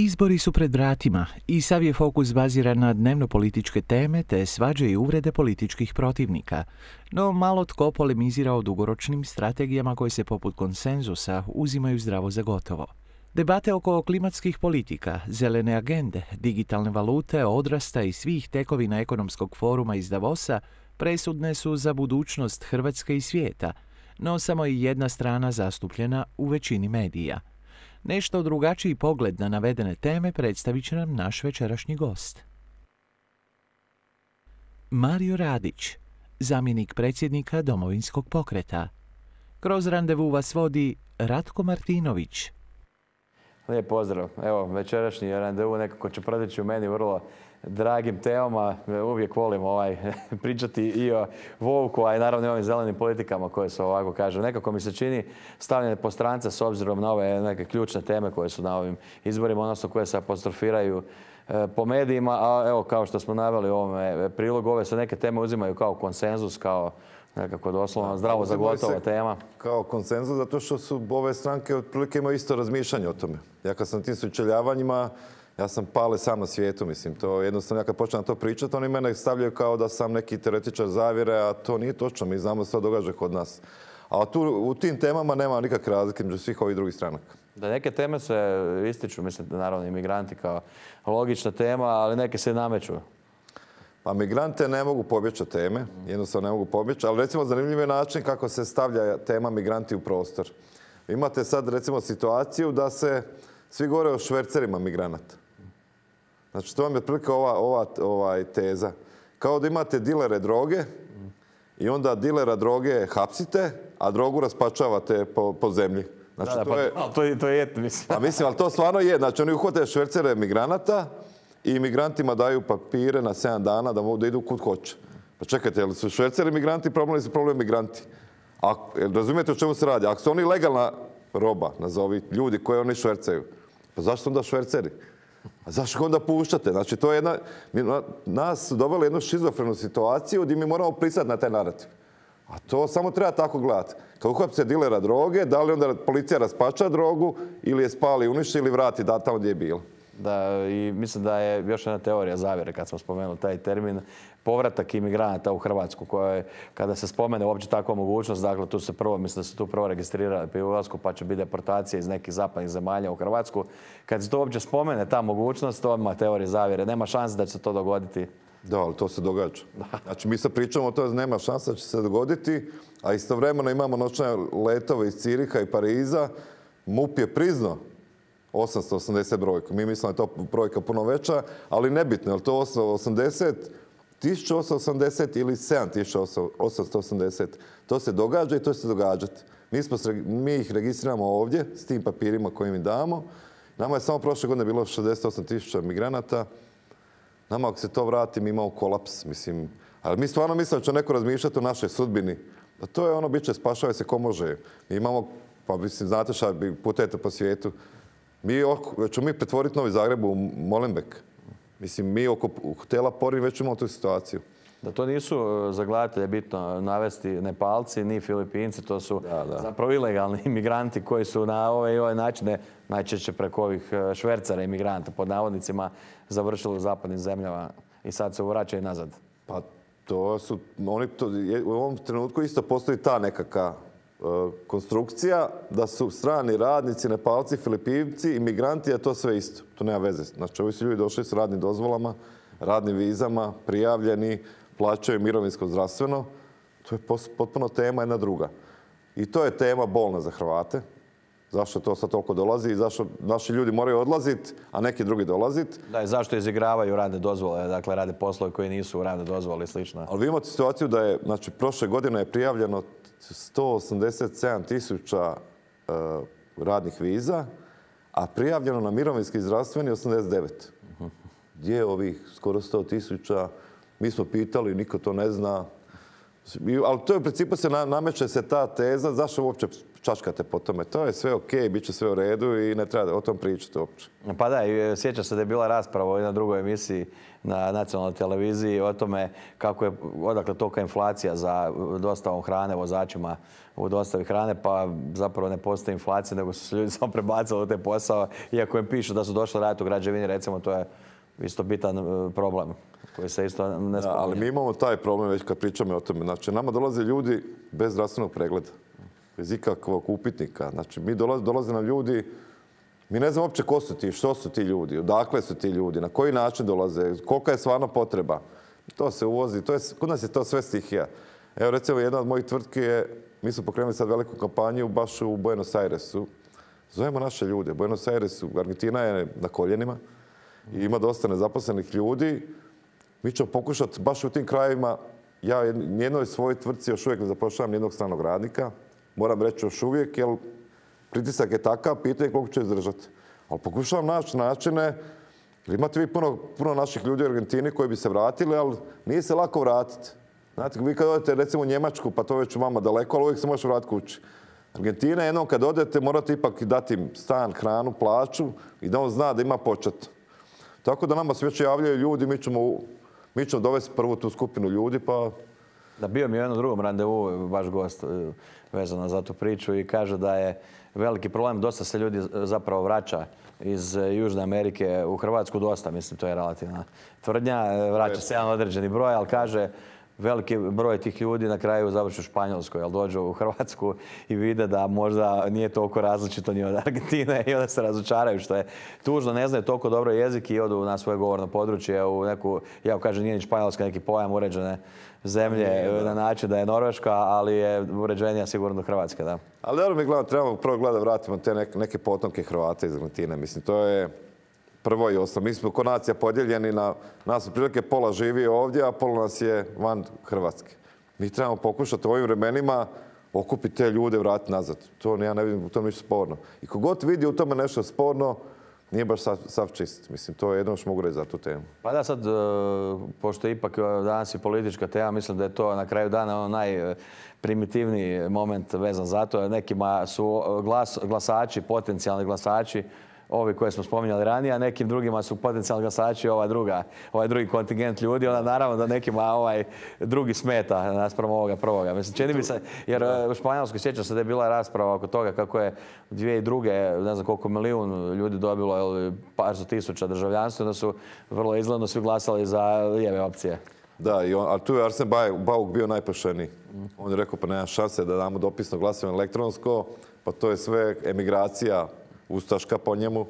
Izbori su pred vratima i sav je fokus baziran na dnevno-političke teme te svađe i uvrede političkih protivnika. No malo tko polemizira o dugoročnim strategijama koje se poput konsenzusa uzimaju zdravo za gotovo. Debate oko klimatskih politika, zelene agende, digitalne valute, odrasta i svih tekovina ekonomskog foruma iz Davosa presudne su za budućnost Hrvatske i svijeta, no samo je jedna strana zastupljena u većini medija. Nešto drugačiji pogled na navedene teme predstavit će nam naš večerašnji gost. Mario Radić, zamjenik predsjednika Domovinskog pokreta. Kroz randevu vas vodi Ratko Martinović. Lijep pozdrav. Evo, večerašnji randevu nekako će proteći u meni vrlo dragim temama. Uvijek volim pričati i o Vovku, a i naravno i ovim zelenim politikama koje su, ovako kažem, nekako mi se čini stavljene po strance s obzirom na ove neke ključne teme koje su na ovim izborima, odnosno koje se apostrofiraju po medijima. A evo, kao što smo naveli u ovome prilogu, ove se neke teme uzimaju kao konsenzus, kao nekako doslovno zdravo za gotovo tema. Kao konsenzus, zato što su ove stranke otprilike imaju isto razmišljanje o tome. Ja kad sam tim sučeljavanjima, ja sam pale sam na svijetu, mislim. To jednostavno, ja kad počnem to pričati, oni mene stavljaju kao da sam neki teoretičar zavjere, a to nije točno. Mi znamo što se događa kod nas. A u tim temama nema nikakve razlike među svih ovih drugih stranaka. Da, neke teme se ističu, mislim da naravno imigranti kao logična tema, ali neke se nameću. Pa migrante ne mogu pobjeći od teme, jednostavno ne mogu pobjeći, ali recimo zanimljiv je način kako se stavlja tema migranti u prostor. Imate sad recimo situaciju da se svi govore o švercerima migranata. Znači to vam je otprilike ova teza. Kao da imate dilere droge i onda dilera droge hapsite, a drogu raspačavate po zemlji. Znači, to je mislim. Pa mislim, ali to stvarno je. Znači oni uhvate švercere migranata i imigrantima daju papire na 7 dana da idu kud hoće. Pa čekajte, jel su šverceri migranti problem ili su problem migranti? Razumijete o čemu se radi? Ako su oni legalna roba, nazovi ljudi koje oni švercaju, pa zašto onda šverceri? A zašto onda puštate? Znači, to je nas su doveli jednu šizofrenu situaciju gdje mi moramo pristati na taj narativ. A to samo treba tako gledati. Kad uhapse dilera droge, da li onda policija raspača drogu ili je spali, uništi ili vrati tamo gdje je bilo? Da, i mislim da je još jedna teorija zavjere, kad smo spomenuli taj termin, povratak imigranata u Hrvatsku, koja kada se spomene uopće takva mogućnost, dakle tu se prvo, mislim da se tu prvo registrirali pri ulasku, pa će biti deportacija iz nekih zapadnih zemalja u Hrvatsku. Kad se to uopće spomene, ta mogućnost, to ima teorija zavjere. Nema šanse da će se to dogoditi. Da, ali to se događa. Znači, mi sad pričamo o tome, nema šanse da će se dogoditi, a istovremeno imamo noćne letove iz Ciriha i Pariza. MUP je priznao 880 brojku. Mi mislimo da je to brojka puno veća, ali nebitno, je li to 880, 1880 ili 7880. To se događa i to će se događati. Mi ih registriramo ovdje s tim papirima koje im damo. Nama je samo prošle godine bilo 68.000 migranata. Nama ako se to vrati, mi imamo kolaps. Mislim. Ali mi stvarno mislimo da će neko razmišljati o našoj sudbini. Da to je ono, bit će spašava se ko može. Mi imamo, pa mislim, znate šta, putujete po svijetu. Ćemo mi pretvoriti Novi Zagreb u Molenbeek. Mislim, mi oko hotela Pori već imamo tu situaciju. Da to nisu za gledatelje bitno navesti Nepalci ni Filipinci, to su zapravo ilegalni imigranti koji su na ove načine, najčešće preko ovih švercera imigranta, pod navodnicima, završili u zapadnim zemljama i sad se vraćaju nazad. Pa to su, u ovom trenutku isto postoji ta nekakva konstrukcija da su strani radnici, Nepalci, Filipinci, imigranti, a to sve isto. To nema veze. Znači, ovi su ljudi došli s radnim dozvolama, radnim vizama, prijavljeni, plaćaju mirovinsko zdravstveno. To je potpuno tema jedna druga. I to je tema bolna za Hrvate. Zašto to sad toliko dolazi i zašto naši ljudi moraju odlaziti, a neki drugi dolaziti. Da, i zašto izigravaju radne dozvole, dakle rade poslove koji nisu u radne dozvole i slično. Ali vi imate situaciju da je, znači, prošle godine je prijavljeno 187.000 radnih viza, a prijavljeno na mirovinski i zdravstveni 89. Gdje je ovih skoro 100.000? Mi smo pitali, niko to ne zna. Ali to je u principu nameće se ta teza, zašto uopće čačkate po tome. To je sve ok, bit će sve u redu i ne treba o tom pričati uopće. Pa da, i sjećam se da je bila rasprava u jednoj drugoj emisiji na nacionalnoj televiziji o tome kako je, odakle tolika inflacija za dostavom hrane vozačima u dostavi hrane, pa zapravo ne postoji inflacija, nego su se ljudi samo prebacili u te posao, iako im pišu da su došli raditi u građevini, recimo, to je isto bitan problem koji se isto ne spominje. Ali mi imamo taj problem već kad pričamo o tome. Znači, nama dolaze ljudi bez zdravstvenog pregleda, bez ikakvog upitnika. Znači, dolaze nam ljudi, mi ne znamo uopće ko su ti, što su ti ljudi, odakle su ti ljudi, na koji način dolaze, kolika je stvarno potreba. To se uvozi, kod nas je to sve stihija. Evo, recimo, jedna od mojih tvrtki je, mi smo pokrenuli sad veliku kampanju baš u Buenos Airesu. Zovemo naše ljude. Buenos Airesu, Argentina je na koljenima i ima dosta nezaposlenih ljudi. Mi ćemo pokušati baš u tim krajevima, ja nijednoj svojoj tvrtci još uvijek ne zapošljavam nijednog stranog radnika. Moram reći još uvijek, jer pritisak je takav, pitanje koliko će izdržati. Ali pokušavam naći načine, jer imate vi puno naših ljudi u Argentini koji bi se vratili, ali nije se lako vratiti. Znate, vi kad odete recimo u Njemačku, pa to već vama daleko, ali uvijek se može vratiti kući. Argentina, jednom kad odete, morate ipak dati im stan, hranu, plaću i da on zna da ima počet. Tako da nama se već javljaju ljudi, mi ćemo dovesti prvu tu skupinu ljudi, pa... Da, bio mi u jednom drugom randevu vaš gost vezano za tu priču i kaže da je veliki problem, dosta se ljudi zapravo vraća iz Južne Amerike u Hrvatsku, dosta, mislim, to je relativna tvrdnja, vraća se jedan određeni broj, ali kaže veliki broj tih ljudi na kraju završi u Španjolskoj, ali dođu u Hrvatsku i vide da možda nije toliko različito ni od Argentine i onda se razočaraju, što je tužno, ne znaju toliko dobro jezik i odu na svoje govorno područje u neku, ja kažem, nije ni Španjolska neki pojam uređene zemlje na način da je Norveška, ali je uređenija sigurno Hrvatska, da. Ali dobro mi gledamo, trebamo prvo gledati vratimo te neke potomke Hrvata iz Argentine. Mislim, to je prvo i osnovno. Mi smo ko nacija podijeljeni na nas otprilike pola živi ovdje, a pola nas je van Hrvatske. Mi trebamo pokušati u ovim vremenima okupiti te ljude, vratiti nazad. To ja ne vidim u tome ništa sporno. I kogod vidi u tome nešto sporno, nije baš sav čist. Mislim, to je jedno što mogu reći za tu temu. Pa da, sad, pošto je ipak danas i politička tema, mislim da je to na kraju dana najprimitivniji moment vezan za to. Nekima su glasači, potencijalni glasači, ovi koje smo spominjali ranije, a nekim drugima su potencijalni glasači ovaj drugi kontingent ljudi. Onda naravno da nekima ovaj drugi smeta naspram ovoga prvoga. Mislim, čini mi se, jer u Španjolskoj sjećam se da je bila rasprava oko toga kako je 2002. ne znam koliko milijun ljudi dobilo, par sto tisuća državljanstva, da su vrlo izgledno svi glasali za lijeve opcije. Da, ali tu je Arsen Bauk bio najpošteniji. On je rekao pa nema šanse da damo dopisno glasovanje elektronsko, pa to je sve emigracija ustaška po njemu,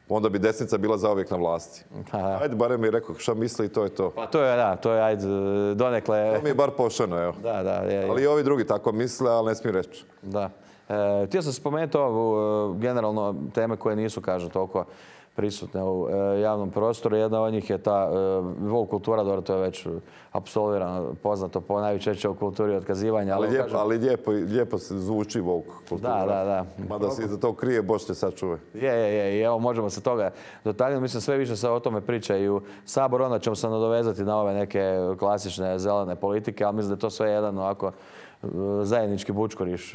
onda bi desnica bila zauvijek na vlasti. Ajde, barem mi je rekao šta misli i to je to. Pa to je, da, to je, ajde, donekle... To mi je bar pošteno, evo. Da, da. Ali i ovi drugi tako misle, ali ne smiju reći. Da. Htio sam spomenuti generalno teme koje nisu, kažem, toliko prisutne u javnom prostoru. Jedna od njih je ta woke kultura, dobro, to je već apsolvirano, poznato po najčešće u kulturi otkazivanja. Ali lijepo se zvuči woke kultura. Da. Mada se iza to krije, Bož te sačuvaj. Je. I evo, možemo se toga dotaknuti. Mislim, sve više se o tome priča i u Saboru. Onda ćemo se nadovezati na ove neke klasične zelene politike, ali mislim da je to sve jedan ovako zajednički bučkuriš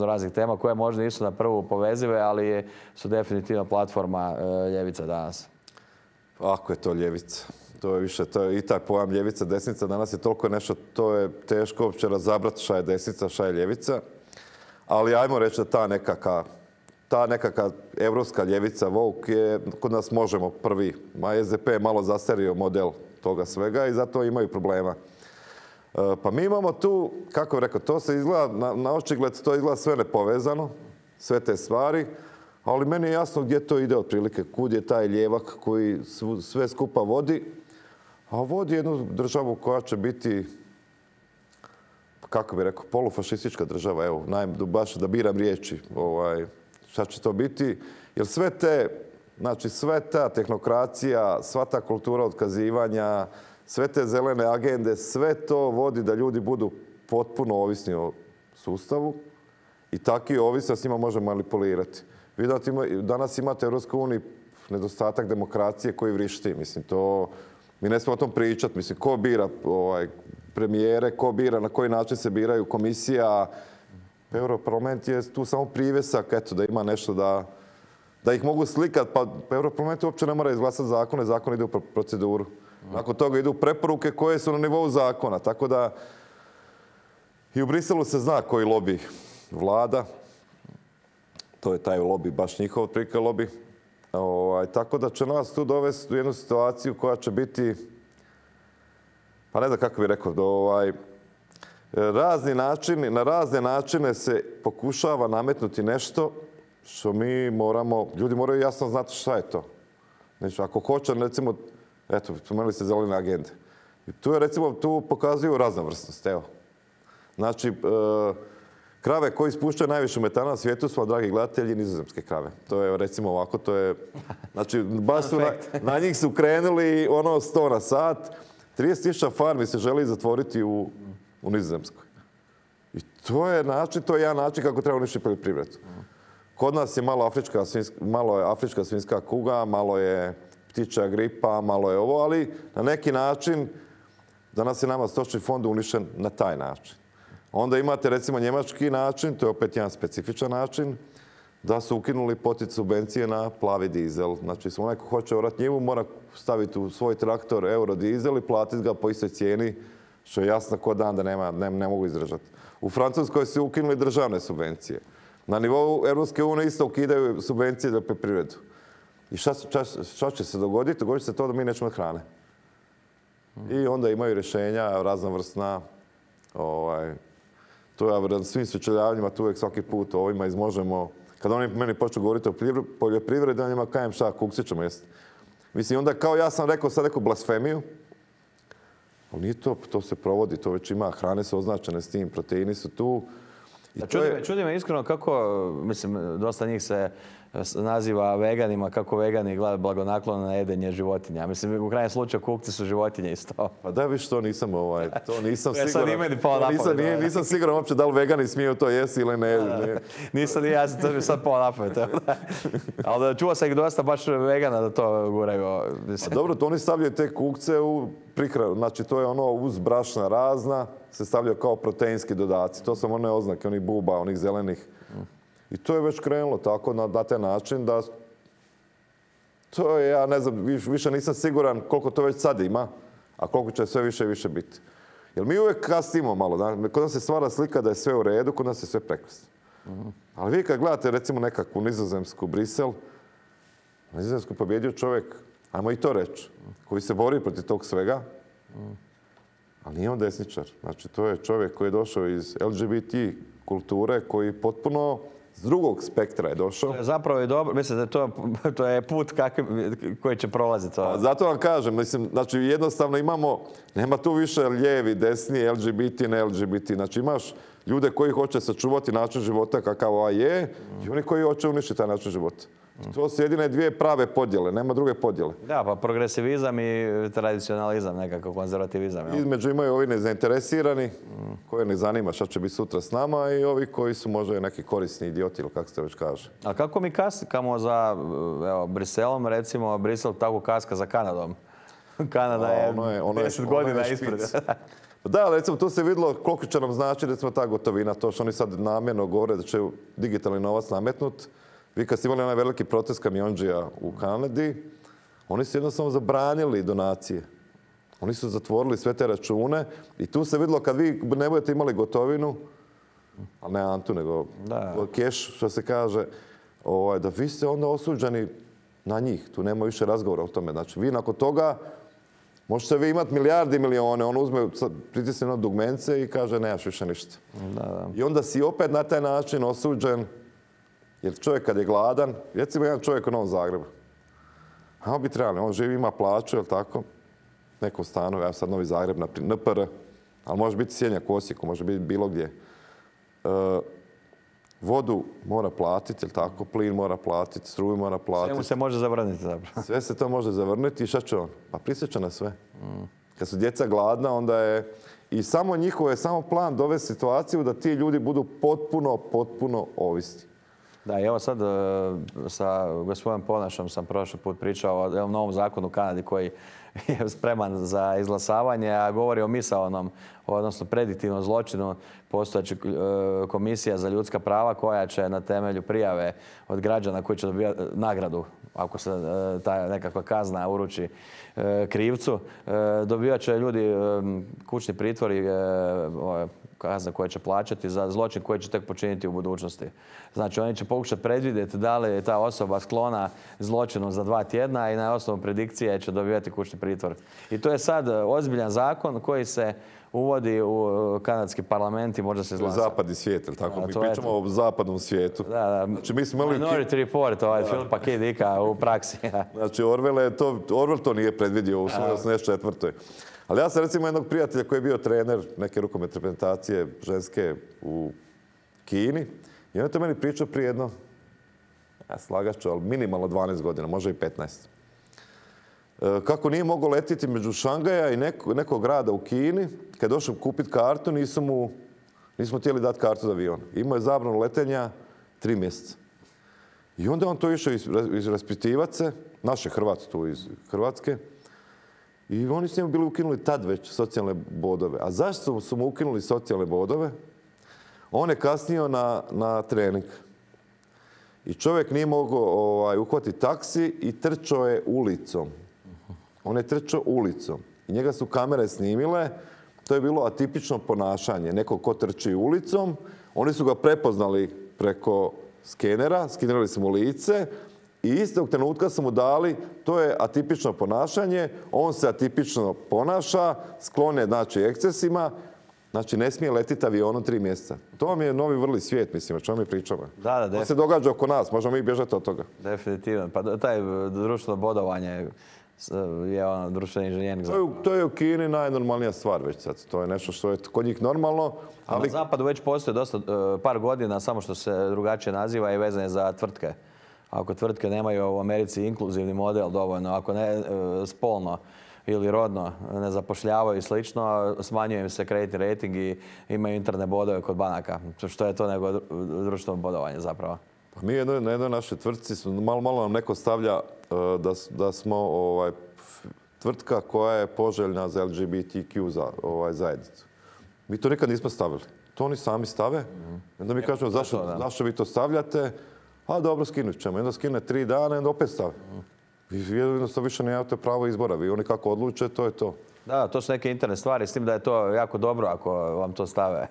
raznih tema koje možda nisu na prvu povezive, ali su definitivno platforma ljevica danas. Ako je to ljevica. To je više, i taj pojam ljevica, desnica danas je toliko nešto, to je teško uopće razabrati šta je desnica, šta je ljevica. Ali ajmo reći da ta nekaka evropska ljevica, woke, je kod nas možemo prvi. SDP je malo zastario model toga svega i zato imaju problema. Pa mi imamo tu, kako bih rekao, to se izgleda, na očigled to izgleda sve nepovezano, sve te stvari, ali meni je jasno gdje to ide otprilike, kud je taj ljevak koji sve skupa vodi, a vodi jednu državu koja će biti, kako bih rekao, polufašistička država, evo, baš da biram riječi, šta će to biti, jer sva ta tehnokracija, sva ta kultura otkazivanja, sve te zelene agende, sve to vodi da ljudi budu potpuno ovisni o sustavu i taki ovisni s njima može manipulirati. Vi danas imate u EU nedostatak demokracije koji vrišti. Mislim, mi ne smijemo o tom pričati. Mislim, ko bira premijere, ko bira, na koji način se biraju komisija. Europarlament je tu samo privjesak, eto, da ima nešto da ih mogu slikati, pa Europarlament uopće ne mora izglasati zakone, zakon ide u proceduru. Nakon toga idu preporuke koje su na nivou zakona, tako da i u Briselu se zna koji lobby vlada. To je taj lobby, baš njihov otprilike lobby. Tako da će nas tu dovesti u jednu situaciju koja će biti, pa ne znam kako bih rekao, na razne načine se pokušava nametnuti nešto što mi moramo, ljudi moraju jasno znati šta je to. Znači, ako hoće, recimo, eto, spomenuli ste zelene agende. Tu je, recimo, tu pokazuju raznovrsnost, evo. Znači, krave koje ispuštaju najviše metana na svijetu su, dragi gledatelji, nizozemske krave. To je, recimo, ovako, to je, znači, baš su na njih su krenuli 100 na sat. 30.000 farmi se želi zatvoriti u Nizozemskoj. I to je jedan način kako treba uništiti poljoprivredu. Kod nas je malo je afrička svinjska kuga, malo je ptičja gripa, malo je ovo, ali na neki način danas je nama stočni fond uništen na taj način. Onda imate recimo njemački način, to je opet jedan specifičan način, da su ukinuli poticaj subvencije na plavi dizel. Znači, onaj ko hoće orati njivu mora staviti u svoj traktor eurodizel i platiti ga po istoj cijeni, što je jasno ko dan da ne mogu izdržati. U Francuskoj su ukinuli državne subvencije. Na nivou Europske unije isto ukidaju subvencije za poljoprivredu. I šta će se dogoditi? Dogodit će se to da mi nećemo hrane. I onda imaju rješenja raznovrsna. To ja na svim sučeljavanjima, tu uvijek svaki put ovima izmožemo. Kada oni meni počnu govoriti o poljoprivredi, on njima kajem šta, kukci ćemo jesti. Mislim, onda kao ja sam rekao sad neku blasfemiju, ali nije to se provodi, to već ima, hrane su označene s tim, proteini su tu. Čudi me iskreno kako, mislim, dosta njih se naziva veganima, kako vegani gledaju blagonaklono na jedenje životinja. Mislim, u krajnjem slučaju kukci su životinje isto. Pa da, viš, to nisam siguran. Nisam siguran uopće da li vegani smiju to jesti ili ne. Nisam, ja sam to sad pao napamet. Ali čuo sam ih dosta baš vegana da to guraju. Dobro, to oni stavljaju te kukce u prihranu. Znači, to je ono uz brašna razna, se stavljaju kao proteinski dodaci. To su one oznake, onih buba, onih zelenih. I to je već krenulo tako na taj način da to je, ja ne znam, više nisam siguran koliko to već sad ima, a koliko će sve više i više biti. Jer mi uvijek kasnimo malo. Kod nas se stvara slika da je sve u redu, kod nas je sve prekrasno. Ali vi kad gledate recimo nekakvu nizozemsku Brisel, nizozemsku pobjedio čovjek, ajmo i to reći, koji se bori protiv tog svega, ali nije on desničar. Znači, to je čovjek koji je došao iz LGBT kulture, koji potpuno s drugog spektra je došao. Zapravo je dobro, mislim da to je put koji će prolaziti. Zato vam kažem, mislim, znači jednostavno nema tu više lijevi, desni, LGBT, ne LGBT. Znači imaš ljude koji hoće sačuvati način života kakav ovaj je i oni koji hoće uništiti taj način života. To su jedine dvije prave podjele, nema druge podjele. Da, pa progresivizam i tradicionalizam, nekako konzervativizam. Između imaju ovi nezainteresirani, koje ne zanima šta će biti sutra s nama i ovi koji su možda neki korisni idioti ili kako se već kaže. A kako mi kaskamo za Briselom, recimo Brisel tako kaska za Kanadom? Kanada je 10 godina ispred. Da, recimo tu se vidjelo koliko će nam znači recimo ta gotovina, to što oni sad namjerno govore da će digitalni novac nametnut. Vi kad ste imali onaj veliki protest kamionđija u Kanadi, oni su jednostavno zabranili donacije. Oni su zatvorili sve te račune i tu se vidjelo kad vi ne budete imali gotovinu, ali ne Antu, nego keš, što se kaže, da vi ste onda osuđeni na njih. Tu nema više razgovora o tome. Znači, vi nakon toga možete vi imati milijardi i milijone, on uzme, pritisne na dugmence i kaže nemaš više ništa. I onda si opet na taj način osuđen. Jer čovjek kad je gladan, recimo jedan čovjek u Novom Zagrebu, a on bi trebali, on živi, ima plaću, jel tako, nekom stanu, ja sad Novi Zagreb, NPR, ali može biti Sjenjak u Osijeku, može biti bilo gdje. Vodu mora platiti, jel tako, plin mora platiti, struju mora platiti. Sve mu se može zavrniti zapravo. Sve se to može zavrniti i šta će on? Pa prisjeća na sve. Kad su djeca gladna, onda je i samo njihov je samo plan dovesti situaciju da ti ljudi budu potpuno ovisni. Da, i evo sad sa gospodinom Ponašom sam prošli put pričao o novom zakonu u Kanadi koji je spreman za izglasavanje, a govori o misaonom, odnosno prediktivnom zločinu. Postojeća komisija za ljudska prava koja će na temelju prijave od građana koji će dobivati nagradu, ako se ta nekakva kazna uruči krivcu, dobivat će ljudi kućni pritvor i kazne koje će plaćati za zločin koji će tek počiniti u budućnosti. Znači, oni će pokušati predvidjeti da li je ta osoba sklona zločinu za 2 tjedna i na osnovu predikcije će dobivati kućni pritvor. I to je sad ozbiljan zakon koji se uvodi u kanadski parlament i možda se izglasa. Zapadni svijet, ili tako? Mi pričamo o zapadnom svijetu. Da. Znači, mi smo imali Minority Report, Filipa K. Dicka u praksi. Znači, Orwell to nije predvidio u svojoj 84. Ali ja sam recimo jednog prijatelja koji je bio trener neke rukometne reprezentacije ženske u Kini i on je to meni pričao prije jedno, ja slagat ću, ali minimalno 12 godina, možda i 15. Kako nije mogao letiti među Šangaja i nekog grada u Kini, kad je došao kupiti kartu, nismo htjeli dati kartu za avion. Imao je zabranu letenja 3 mjeseca. I onda on to išao izraspitivati se, naše Hrvati tu iz Hrvatske, i oni su njemu bili ukinuli tad već socijalne bodove. A zašto su mu ukinuli socijalne bodove? On je kasnio na trening. I čovjek nije mogao uhvatiti taksi i trčao je ulicom. On je trčao ulicom. I njega su kamere snimile. To je bilo atipično ponašanje. Neko ko trči ulicom. Oni su ga prepoznali preko skenera. Skenerali su mu lice. I istog trenutka su mu dali, to je atipično ponašanje, on se atipično ponaša, sklon je, znači, ekscesima, znači ne smije letiti avionom 3 mjeseca. To vam je novi vrli svijet, mislim, o čemu mi pričamo. Da, to se događa oko nas, možemo mi bježati od toga. Definitivno. Pa taj društveno bodovanje je društveni inženjering. To je u Kini najnormalnija stvar već sad. To je nešto što je kod njih normalno. Ali na zapadu već postoje dosta, par godina, samo što se drugačije naziva i vezane za tvrtke. Ako tvrtke nemaju u Americi inkluzivni model dovoljno, ako ne spolno ili rodno ne zapošljavaju i slično, smanjuje im se kreditni rating i imaju interne bodove kod banaka. Što je to nego društveno bodovanje zapravo? Pa mi na jednoj našoj tvrtci, malo nam neko stavlja da smo tvrtka koja je poželjna za LGBTQ zajednicu. Mi to nikad nismo stavili. To oni sami stave. Onda mi kažemo zašto vi to stavljate? A dobro, skinut ćemo. Onda skine 3 dana i onda opet stave. Vi jednostavno više nemate pravo izbora. Vi oni kako odluče, to je to. Da, to su neke interne stvari, s tim da je to jako dobro ako vam to stave.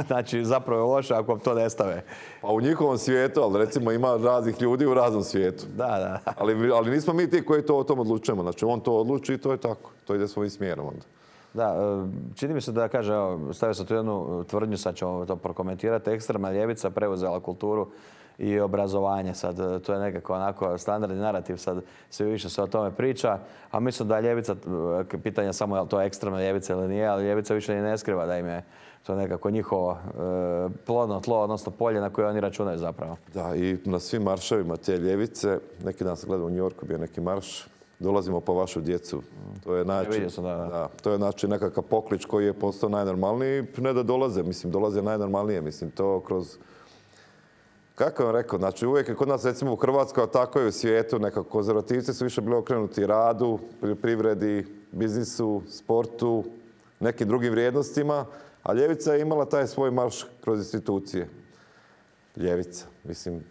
Znači, zapravo je loše ako vam to ne stave. Pa u njihovom svijetu, ali recimo ima raznih ljudi u raznom svijetu. Da. Ali nismo mi ti koji to o tom odlučujemo. Znači, on to odluči i to je tako. To ide svojim smjerom onda. Da, čini mi se da kaže, stavio sam tu jednu tvrdnju, sad ćemo to prokomentirati. Ekstremna ljevica preuzela kulturu i obrazovanje. Sad, to je nekako onako standardni narativ, sad sve više se o tome priča, a mislim da ljevica, pitanje samo je li to ekstremna ljevica ili nije, ali ljevica više ne skriva da im je to nekako njihovo plodno tlo, odnosno polje na koje oni računaju zapravo. Da, i na svim marševima te ljevice, neki dan sam gledao u New Yorku, bio neki marš, dolazimo po vašu djecu. To je to je znači nekakav poklič koji je postao najnormalniji, ne da dolaze, mislim, dolaze najnormalnije, mislim, to kroz... Kako vam rekao, znači uvijek je kod nas recimo u Hrvatskoj, a tako je u svijetu, nekako konzervativci su više bili okrenuti radu, poljoprivredi, biznisu, sportu, nekim drugim vrijednostima, a ljevica je imala taj svoj marš kroz institucije. Ljevica, mislim,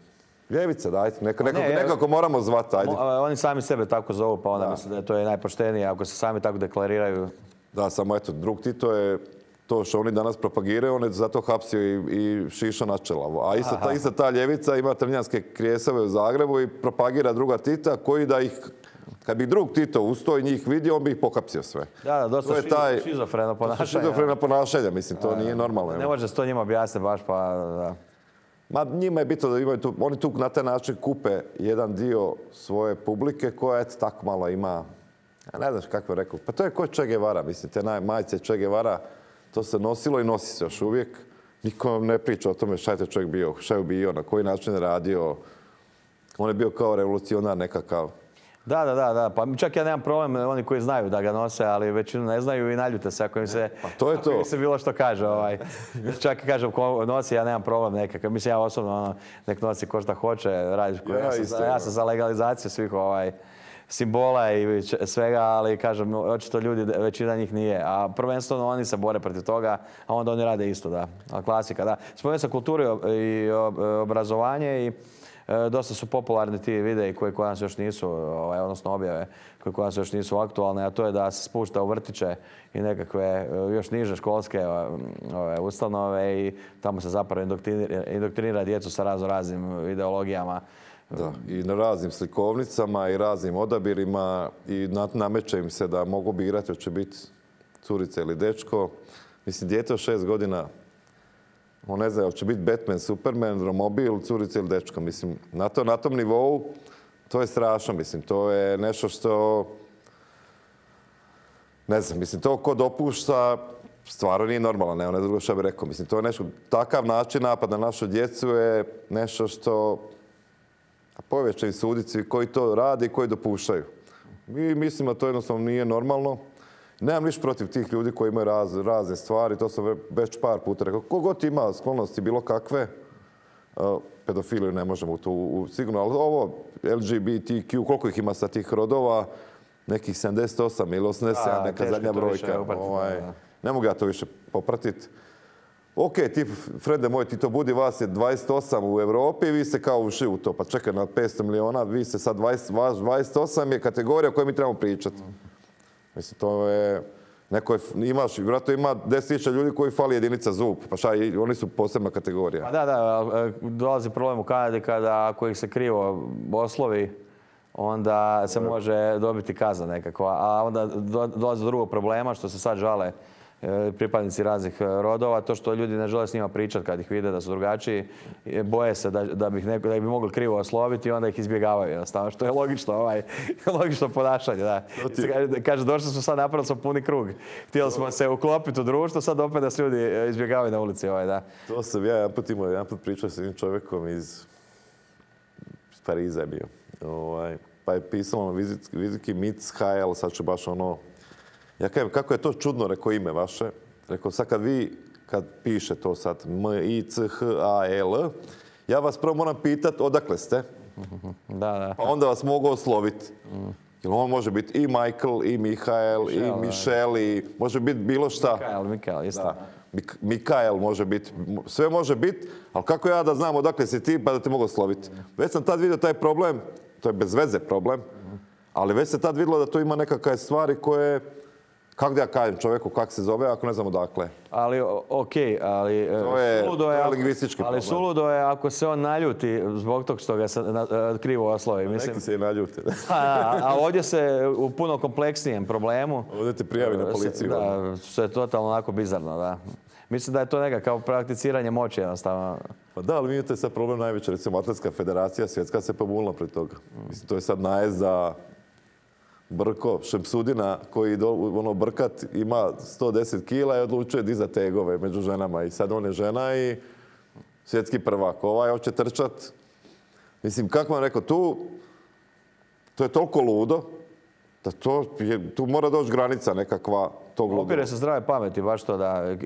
ljevica, dajte, nekako moramo zvati, ajde. Oni sami sebe tako zovu, pa onda mislim da je to najpoštenije ako se sami tako deklariraju. Da, samo eto, drug Tito je to što oni danas propagiraju, on je zato hapsio i šišao na čelavo. A ista ta ljevica ima trnjanske krijesave u Zagrebu i propagira druga Tita koji da ih, kad bi drug Tito ustao i njih vidio, on bi ih pohapsio sve. Da, dosta šizofreno ponašanje. Šizofreno ponašanje, mislim, to nije normalno. Ne može se to njima objasniti baš, pa da. Ma njima je bitno da imaju tu, oni tu na taj način kupe jedan dio svoje publike koja eto tako malo ima, ne znaš kako je rekao, pa to je ko Che Guevara, mislim, te majice Che Guevara, to se nosilo i nosi se još uvijek. Niko ne priča o tome šta je to čovjek bio, šta je bio, na koji način je radio. On je bio kao revolucionar nekakav. Da. Pa čak ja nemam problem, oni koji znaju da ga nose, ali većinu ne znaju i naljute se ako im se, to im se bilo što kaže. Čak i kažem ko nosi, ja nemam problem nekakav. Mislim, ja osobno nek nosi ko šta hoće, radiš. Ja sam za legalizaciju simbola i svega, ali kažem, očito ljudi, većina njih nije. A prvenstveno oni se bore protiv toga, a onda oni rade isto, da. Klasika, da. Spomenuo sam kulturu i obrazovanje i dosta su popularni ti videi koji kod nas još nisu, odnosno objave koji kod nas još nisu aktualne, a to je da se spušta u vrtiće i nekakve još niže školske ustanove i tamo se zapravo indoktrinira djecu sa raznim ideologijama. Da, i na raznim slikovnicama i raznim odabirima i nameće im se da mogu birati hoće biti curica ili dečko. Mislim, dijete od 6 godina, on ne zna hoće biti Batman, Superman, romobil, curica ili dečko. Mislim, na tom nivou to je strašno. Mislim, to je nešto što... Ne znam, mislim, to ko dopušta stvarno nije normalno, ne drugo što bih rekao. Mislim, to je nešto, takav način napad na našu djecu je nešto što povječni sudici koji to rade i koji dopuštaju. Mi mislimo da to jednostavno nije normalno. Nemam ništa protiv tih ljudi koji imaju razne stvari, to sam već par puta rekao. Kogod ima sklonosti bilo kakve, pedofiliju ne možemo tu sigurno, ali ovo LGBTQ, koliko ih ima sa tih rodova, nekih 78 ili 87, neka zadnja brojka. Ne mogu ja to više popratiti. Ok, ti, Frede moj, ti to budi, vas je 28 u Europi i vi ste kao ušli u to. Pa čekaj, na 500 miliona, vi ste sad 28 je kategorija o kojoj mi trebamo pričati. Mislim, to je... vjerojatno ima 10.000 ljudi koji fali jedinica zub. Pa šta, oni su posebna kategorija. Pa da, dolazi problem u Kanadi kada ako ih se krivo oslovi, onda se može dobiti kazna nekakva. A onda dolazi do drugog problema, što se sad žale pripadnici raznih rodova, to što ljudi ne žele s njima pričati kad ih vide da su drugačiji, boje se da bi ih mogli krivo osloviti i onda ih izbjegavaju jednostavno, što je logično ponašanje. Da. Kaže, došli smo sad, napravili smo puni krug. Htjeli smo se uklopiti u društvo, sad opet nas ljudi izbjegavaju na ulici. Da. To sam ja jedan put pričao s jednim čovjekom iz Pariza je bio. Pa je pisalo na vizitki Michael, sad ću baš ono... Ja kažem, kako je to čudno, rekao ime vaše. Rekao, sad kad piše to sad M-I-C-H-A-L, ja vas prvo moram pitati odakle ste. Da. Pa onda vas mogu osloviti. Jer on može biti i Michael, i Mihael, i Michelle, i može biti bilo šta. Mikael, isto. Mikael može biti, sve može biti, ali kako ja da znam odakle si ti pa da te mogu osloviti. Već sam tad vidio taj problem, to je bez veze problem, ali već se tad vidjelo da to ima nekakve stvari koje... Kako da ja kažem čovjeku kako se zove ako ne znam odakle? Ali, okej, ali... To je lingvistički problem. Ali suludo je ako se on naljuti zbog tog što ga se krivo oslovi. Neki se i naljute. A ovdje se u puno kompleksnijem problemu... Ovdje te prijavi na policiju. Da, što je totalno onako bizarno, da. Mislim da je to nekakav prakticiranje moći jednostavno. Pa da, ali vidite sad problem najveći. Recimo, Atletska federacija svjetska se pobunila pred toga. Mislim, to je sad najezd za... Brko, Šemsudina, koji brkat ima 110 kila i odlučuje dizati tegove među ženama. I sad on je žena i svjetski prvak. Hoće trčat. Mislim, kako vam rekao, to je toliko ludo da tu mora doći granica nekakva tog ludova. Opire se zdrave pameti, baš to da.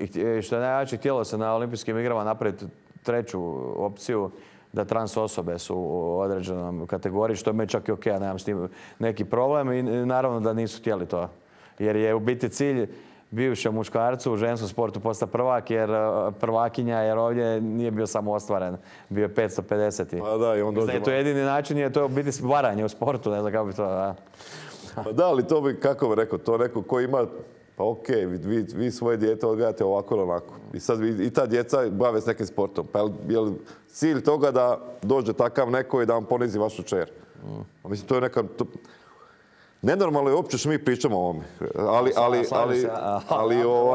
Što je najjače, htjelo se na olimpijskim igrama napraviti treću opciju, da trans osobe su u određenom kategoriji, što je meni čak i okej, ja nemam s tim neki problem i naravno da nisu htjeli to. Jer je u biti cilj bivšem muškarcu u ženskom sportu postati prvakinja, jer ovdje nije bio samo ostvaren, bio je 550. Pa da, i on dođe... To je jedini način, je to u biti varanje u sportu, ne znam kako bi to... Da. Pa da, ali to bi, kako bi rekao, to neko ko ima... Pa okej, vi svoje dijete odgajate ovako ili onako. I sad i ta djeca bave s nekim sportom. Pa je li cilj toga da dođe takav neko i da vam ponizi vašu čer? Mislim, to je neka... Nenormalno je uopće što mi pričamo o ovome. To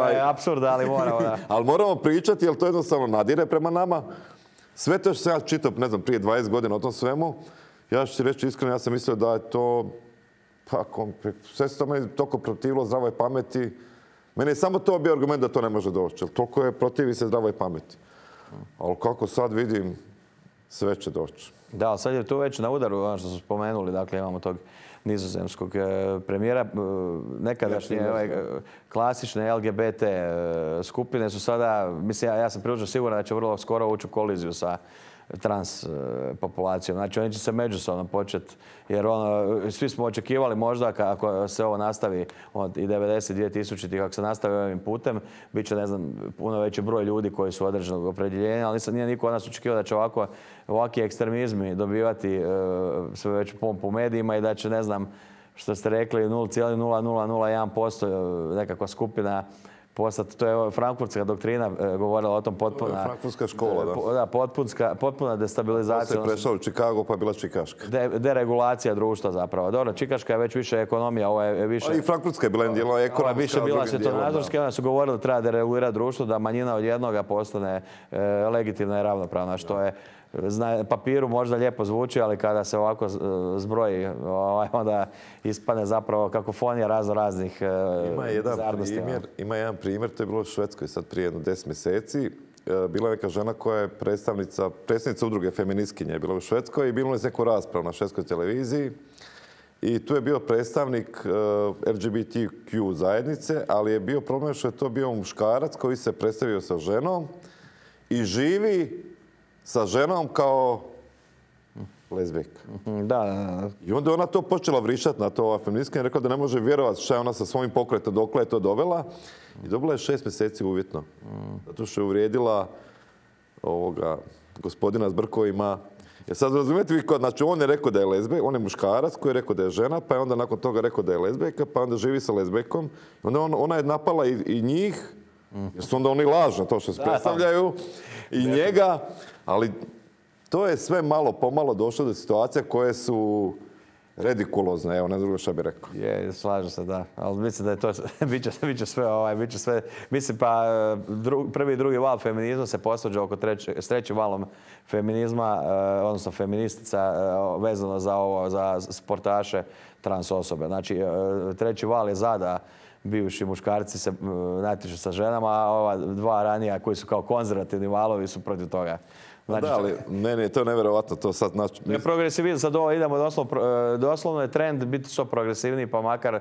je apsurd, ali moramo, da. Ali moramo pričati, jer to jednostavno nadire prema nama. Sve to što sam ja čitao, ne znam, prije 20 godina o tom svemu, ja ću ti reći iskreno, ja sam mislio da je to... Pa, sve se to meni toliko protivilo zdravoj pameti. Meni je samo to bio argument da to ne može doći. Toliko je protivi se zdravoj pameti. Ali kako sad vidim, sve će doći. Da, sad je to već na udaru, ono što smo spomenuli. Dakle, imamo tog nizozemskog premijera. Nekadašnje klasične LGBT skupine su sada, mislim, ja sam prilično siguran da će vrlo skoro ući u koliziju sa trans populacijom. Znači oni će se međusobno početi, jer svi smo očekivali možda ako se ovo nastavi od i 92.000 kako se nastavi ovim putem, bit će, ne znam, puno veći broj ljudi koji su određenog opredjeljenja, ali nije niko od nas očekivao da će ovakvi ekstremizmi dobivati sve veću pompu u medijima i da će, ne znam, što ste rekli, 0,0001% nekakva skupina postati. To je frankfurtska doktrina govorila o tom potpuna... Frankfurtska škola, da. Da, potpuna destabilizacija. To se prešao u Chicago, pa bila čikaška. Deregulacija društva zapravo. Dobro, čikaška je već više ekonomija, ovo je više... A i frankfurtska je bila dijela ekonomska. Ovo je više bila svjetonazorska, onda su govorili da treba deregulirati društvo, da manjina od jednoga postane legitimna i ravnopravna, što je na papiru možda lijepo zvuči, ali kada se ovako zbroji, onda ispane zapravo kakofonija raznih bizarnosti. Ima jedan primjer, to je bilo u Švedskoj sad prije 10 mjeseci. Bila je neka žena koja je predsjednica udruge feministkinje, bila u Švedskoj i bilo je neku raspravu na švedskoj televiziji. I tu je bio predstavnik LGBTQ zajednice, ali je bio problem što je to bio muškarac koji se predstavio sa ženom i živi sa ženom kao lezbijka. Da. I onda je ona to počela vrištati na to, ova feministka, i rekla da ne može vjerovati što je ona sa svojim pokretom dokle je to dovela. I dobila je 6 mjeseci uvjetno. Zato što je uvrijedila gospodina s brkovima. Jer sad razumijete vi, znači on je rekao da je lezbijka, on je muškarac koji je rekao da je žena, pa je onda nakon toga rekao da je lezbijka, pa onda živi sa lezbijkom. Onda ona je napala i njih, jer su onda oni lažno to što se predstavljaju, i njega. Ali to je sve malo pomalo došlo do situacija koje su redikulozne, evo, ne znam što bih rekao. Je, slažem se, da. Ali mislim da je to, bit će sve, mislim pa prvi i drugi val feminizma se posvađa oko s trećim valom feminizma, odnosno feministica, vezano za sportaše trans osobe. Znači, treći val je da bivši muškarci se natječu sa ženama, a ova dva ranija koji su kao konzervativni valovi su protiv toga. Znači, da, ali meni je to nevjerovatno, to sad znači... Progresivizam, sad ovo idemo doslovno je trend biti što progresivniji, pa makar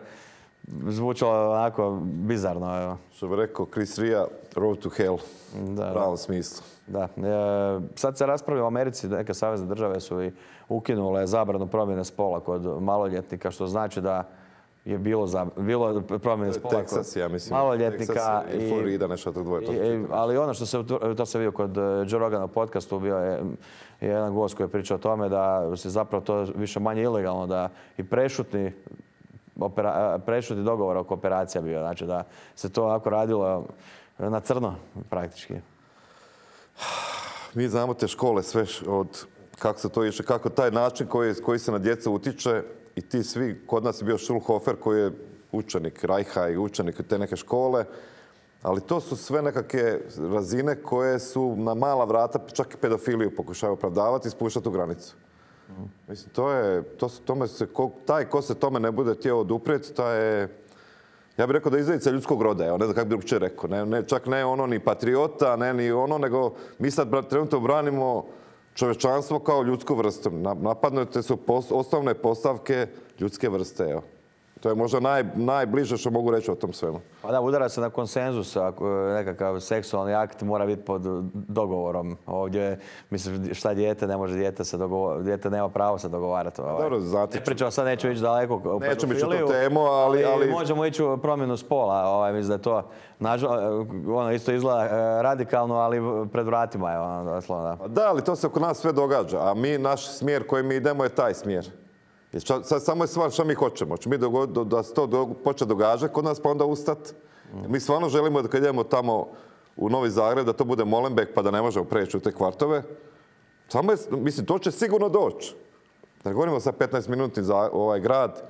zvučalo onako bizarno. Evo. Što bi rekao Chris Ria, road to hell, u pravom smislu. Da. Sad se raspravlja u Americi, neke savezne države su i ukinule zabranu promjene spola kod maloljetnika, što znači da je bilo promjene spola Texas, ja mislim. Maloljetnika i Florida, nešto tog dvoje. Ali ono što to se vidio kod Joe Rogana podcastu, bio je jedan gost koji je pričao o tome da se zapravo to više manje ilegalno, da i prešutni dogovor oko operacija bio. Znači da se to onako radilo na crno praktički. Mi znamo te škole sve od kako se to išlo, kako taj način koji se na djecu utiče. I ti svi, kod nas je bio Schulhofer koji je učenik Reicha i učenik te neke škole, ali to su sve nekakve razine koje su na mala vrata, čak i pedofiliju pokušaju opravdavati i spuštati u granicu. Mislim, taj ko se tome ne bude htio oduprijeti, taj je, ja bih rekao da je izdajica ljudskog roda, ne znam kako bi uopće rekao. Čak ne ono ni patriota, ne ni ono, nego mi sad trenutno branimo čovječanstvo kao ljudsku vrstu. Napadnute su osnovne postavke ljudske vrste. Evo. To je možda najbliže što mogu reći o tom svemu. Pa da, udara se na konsenzus. Nekakav seksualni akt mora biti pod dogovorom. Ovdje, mislim, šta dijete, ne može dijete nema pravo se dogovarati. Dobro, znate. Pričamo sad, neću ići daleko. Nećemo ići u tu temu, ali... Možemo ići u promjenu spola. Mislim da je to, isto izgleda radikalno, ali pred vratima je ono doslovno. Da, ali to se oko nas sve događa. A naš smjer koji mi idemo je taj smjer. Sad samo je stvar što mi hoćemo. Hoćemo mi da se to počne događati kod nas, pa onda ustati. Mi stvarno želimo da kad idemo tamo u Novi Zagreb, da to bude Molenbeek, pa da ne možemo preći u te kvartove. Mislim, to će sigurno doći. Da govorimo sad 15 minuti za ovaj grad,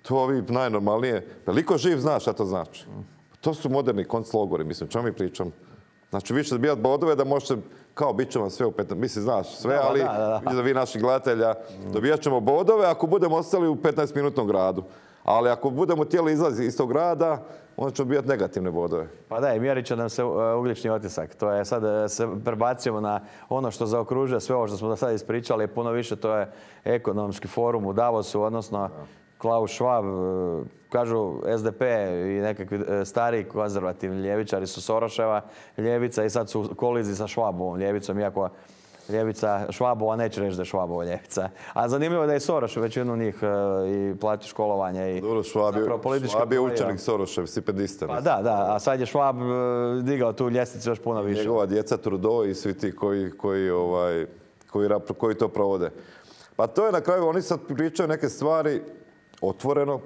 to vi najnormalnije. Veliko živ zna šta to znači. To su moderni konclogori, mislim, čemu mi pričamo. Znači, vi ćete dobijati bodove da možete, kao bit će vam sve u 15, mislim, znaš sve, ali vi naših gledatelja, dobijat ćemo bodove ako budemo ostali u 15-minutnom gradu. Ali ako budemo htjeli izlaziti iz tog grada, onda ćemo dobijati negativne bodove. Pa da, i mjerit će nam se ugljični otisak. To je sad se prebacimo na ono što zaokružuje sve ovo što smo do sada ispričali. Puno više to je ekonomski forum u Davosu, odnosno Klaus Schwab, kažu SDP i nekakvi stari konzervativni ljevičari su Soroševa ljevica i sad su u koliziji sa Schwabovom ljevicom, iako ljevica Švabova, neće reći da je Švabova ljevica. A zanimljivo je da je Soros većinu njih i plati školovanje i dobro, Švab je učenik Sorošev, stipendista. Pa da, a sad je Švab digao tu ljestvicu još puno više. Njegova djeca Trudeau i svi ti koji to provode. Pa to je na kraju, oni sad pričaju neke stvari otvoreno.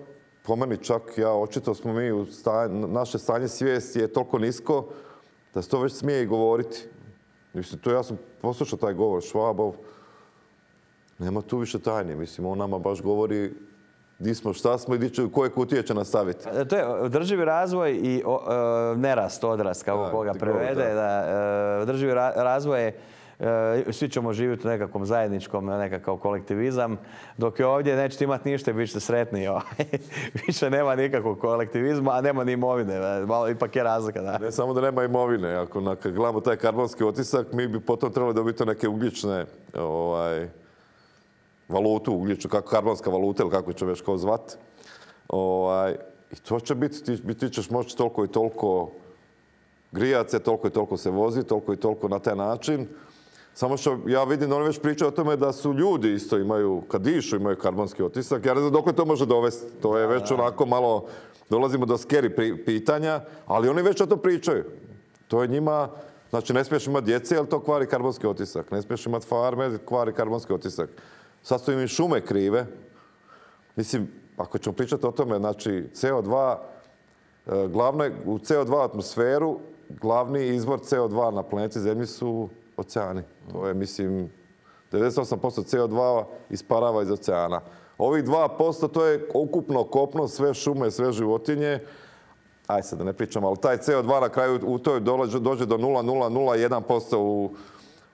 Po meni čak, očito smo mi, naše stanje svijesti je toliko nisko da se to već smije i govoriti. Mislim, ja sam poslušao taj govor Švabov. Nema tu više tajni. Mislim, on nama baš govori di smo, šta smo i koje kutije će nastaviti. To je održivi razvoj i nerast, odrast, kako koga prevede. Održivi razvoj je svi ćemo živjeti u nekakvom zajedničkom, nekakav kolektivizam, dok je ovdje nećete imati ništa i bit ćete sretni. Više nema nikakvog kolektivizma, a nema ni imovine. Malo ipak je razlika. Da. Ne samo da nema imovine. Ako gledamo taj karbonski otisak, mi bi potom trebali dobiti neke ugljične valutu, ugljičnu, karbonska valuta ili kako će već kao zvati. I to će biti, ti ćeš moći toliko i toliko grijat se, toliko i toliko se vozi, toliko i toliko na taj način. Samo što ja vidim da oni već pričaju o tome da su ljudi isto imaju, kad dišu imaju karbonski otisak. Ja ne znam dok to može dovesti. To je već onako malo, dolazimo do scary pitanja, ali oni već o to pričaju. To je njima, znači ne smiješ imati djece, jer to kvari karbonski otisak. Ne smiješ imati farme, kvari karbonski otisak. Sad su im i šume krive. Mislim, ako ćemo pričati o tome, znači CO2, u CO2 atmosferu, glavni izvor CO2 na planeti Zemlji su oceani. To je, mislim, 98% CO2 isparava iz oceana. Ovih 2% to je ukupno kopno, sve šume, sve životinje. Aj sad da ne pričam, ali taj CO2 na kraju u toj dođe do 0,001%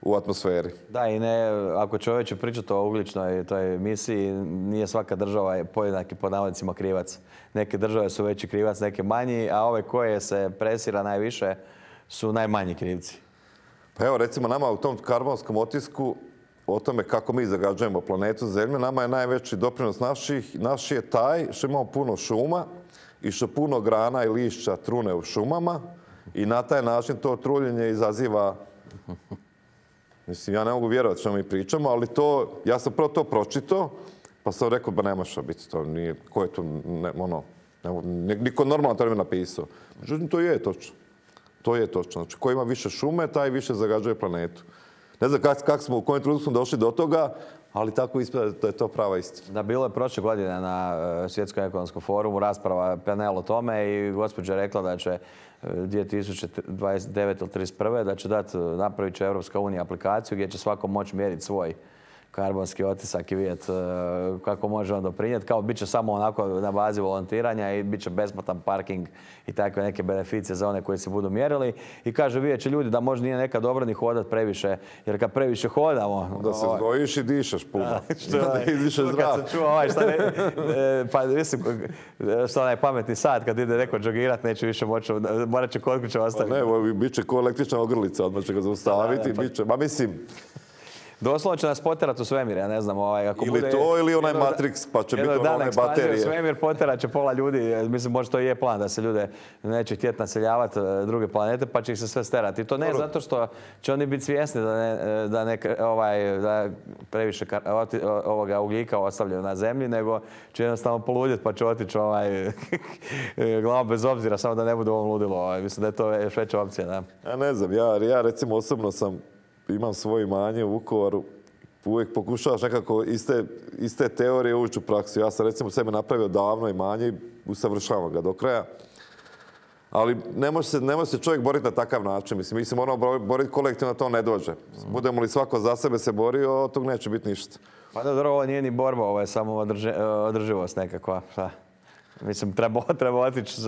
u atmosferi. Da, i ne, ako čovjek će pričati o ugljičnoj toj emisiji, nije svaka država podjednaki pod navodnicima krivac. Neke države su veći krivac, neke manji, a ove koje se presira najviše su najmanji krivci. Pa evo, recimo, nama u tom karbonskom otisku, o tome kako mi zagađujemo planetu Zemlju, nama je najveći doprinos naš je taj što imamo puno šuma i što puno grana i lišća trune u šumama i na taj način to truljenje izaziva. Mislim, ja ne mogu vjerovati što mi pričamo, ali to, ja sam prvo to pročitao, pa sam rekao, ba ne može biti to, nije, ko je to, niko normalno to ne bi napisao. Međutim, to je točno. To je točno. Znači, ko ima više šume, taj više zagađuje planetu. Ne znam kako smo, u kojem trenutku smo došli do toga, ali tako ispada da je to prava istina. Da, bilo je prošle godine na Svjetskom ekonomskom forumu rasprava panel o tome i gospođa je rekla da će 2029. ili 31. da će napravit će Europska unija aplikaciju gdje će svako moći mjeriti svoj karbonski otisak i vidjeti kako može on doprinijeti. Kao bit će samo onako na bazi volontiranja i bit će besplatan parking i takve neke beneficije za one koji se budu mjerili. I kaže, vidjet će ljudi da možda nije nekad dobro ni hodat previše, jer kad previše hodamo... Da se zgojiš i dišeš puno. Da izdišeš zrak. Kad sam čuo pa mislim, što onaj pametni sat, kad ide neko džogirat, neće više moći, morat će kod kuće ostaviti. Ne, bit će ko električna ogrlica, odmah će ga zaustaviti, bit će, mislim... Doslovno će nas poterati u svemir, ja ne znam. Ili to, ili onaj Matrix, pa će biti one baterije. U svemir poterat će pola ljudi, mislim, možda to i je plan da se ljude neće htjeti naseljavati druge planete, pa će ih se sve sterati. I to ne zato što će oni biti svjesni da previše ugljika ostavljaju na zemlji, nego će jednostavno poludjeti pa će otići glavom bez obzira, samo da ne bude ovom ludilo. Mislim da je to još veća opcija. Da. Ja ne znam, ja recimo osobno imam svoje imanje u Vukovaru, uvijek pokušavaš nekako iz te teorije ući u praksu. Ja sam recimo sebe napravio davno imanje i usavršavam ga do kraja. Ali ne može se čovjek boriti na takav način. Mislim, mi se moramo boriti kolektivno, to ne dođe. Budemo li svako za sebe se borio, od tog neće biti ništa. Pa dobro, ovo nije ni borba, ovo je samo održivost nekakva. Mislim, treba otići...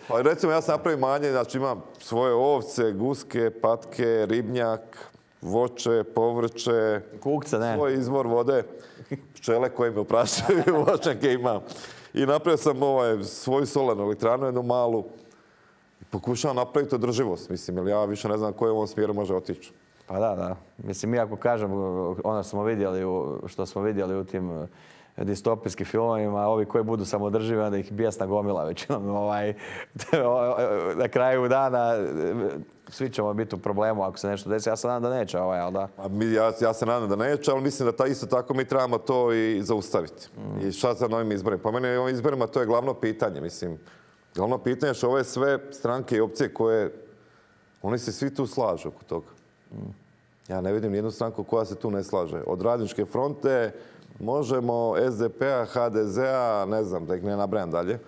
Pa recimo, ja sam napravio imanje, znači imam svoje ovce, guske, patke, ribnjak, voće, povrće, kukce, ne. Svoj izvor vode, pčele koje me oprašaju, voćnjake imam. I napravio sam svoju solarnu elektranu, jednu malu. Pokušavam napraviti održivost, mislim, jer ja više ne znam koji u ovom smjeru može otići. Pa da. Mislim, iako kažem, ono što smo vidjeli u tim distopijskim filmovima, ovi koji budu samodrživi, onda ih bijesna gomila većinom. Na kraju dana svi ćemo biti u problemu ako se nešto desi. Ja se nadam da neće, ali da. Ja se nadam da neće, ali mislim da isto tako mi trebamo to i zaustaviti. I šta sa novim izborima? Po meni ovim izborima to je glavno pitanje, mislim. Glavno pitanje je što ove sve stranke i opcije koje, oni se svi tu slažu oko toga. Ja ne vidim nijednu stranku koja se tu ne slaže. Od Radničke fronte, Možemo, SDP-a, HDZ-a, ne znam, da ih ne nabrajam dalje.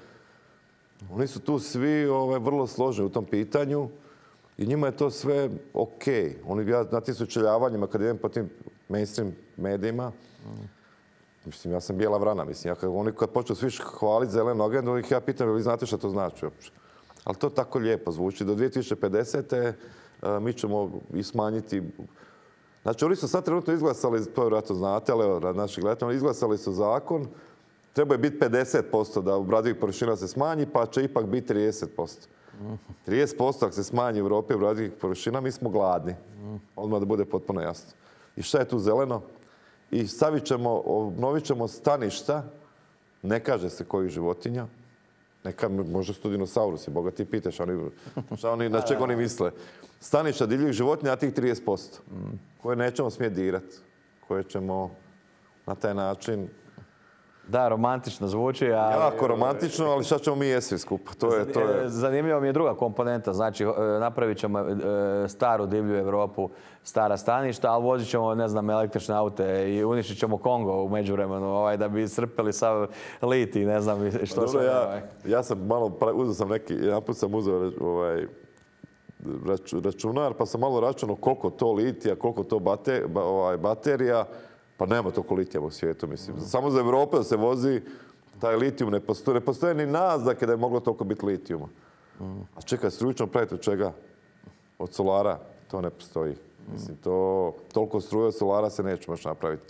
Oni su tu svi vrlo složeni u tom pitanju i njima je to sve okej. Na tim sučeljavanjima, kad idem po tim mainstream medijima, mislim, ja sam bijela vrana, mislim, oni kad počnu svi hvaliti zelenu agendu, ja pitam, vi znate što to znači uopće? Ali to tako lijepo zvuči. Do 2050. Mi ćemo i smanjiti. Znači, oni su sad trenutno izglasali, to vjerojatno znate, ali evo, naši gledatelji, izglasali su zakon, treba je biti 50% da obradivih površina se smanji, pa će ipak biti 30%. 30% ako se smanji u Europi obradivih površina, mi smo gladni. Odmah da bude potpuno jasno. I šta je tu zeleno? I obnovit ćemo staništa, ne kaže se kojih životinja, možda su to dinosaurusi, Boga ti pitaš, na čega oni misle. Staništa divljih životinja, a tih 30%, koje nećemo smjeti dirati, koje ćemo na taj način... Da, romantično zvuči, jako romantično, ali šta ćemo mi jesti skupa? Zanimljiva mi je druga komponenta, znači napravit ćemo staru divlju Europu, stara staništa, ali vozit ćemo, ne znam, električne aute i uništit ćemo Kongo u međuvremenu, da bi iscrpili sav lit i ne znam što sve. Ja sam malo, uzeo sam jedanput sam uzeo računar, pa sam malo računao koliko to litija, koliko to baterija. Pa nema toliko litija u svijetu, mislim. Samo za Europu da se vozi, taj litijum ne postoji. Ne postoje ni naznake da je moglo toliko biti litijuma. A čekaj, struju ćemo praviti od čega? Od solara? To ne postoji. Mislim, toliko struje od solara se neće moći napraviti.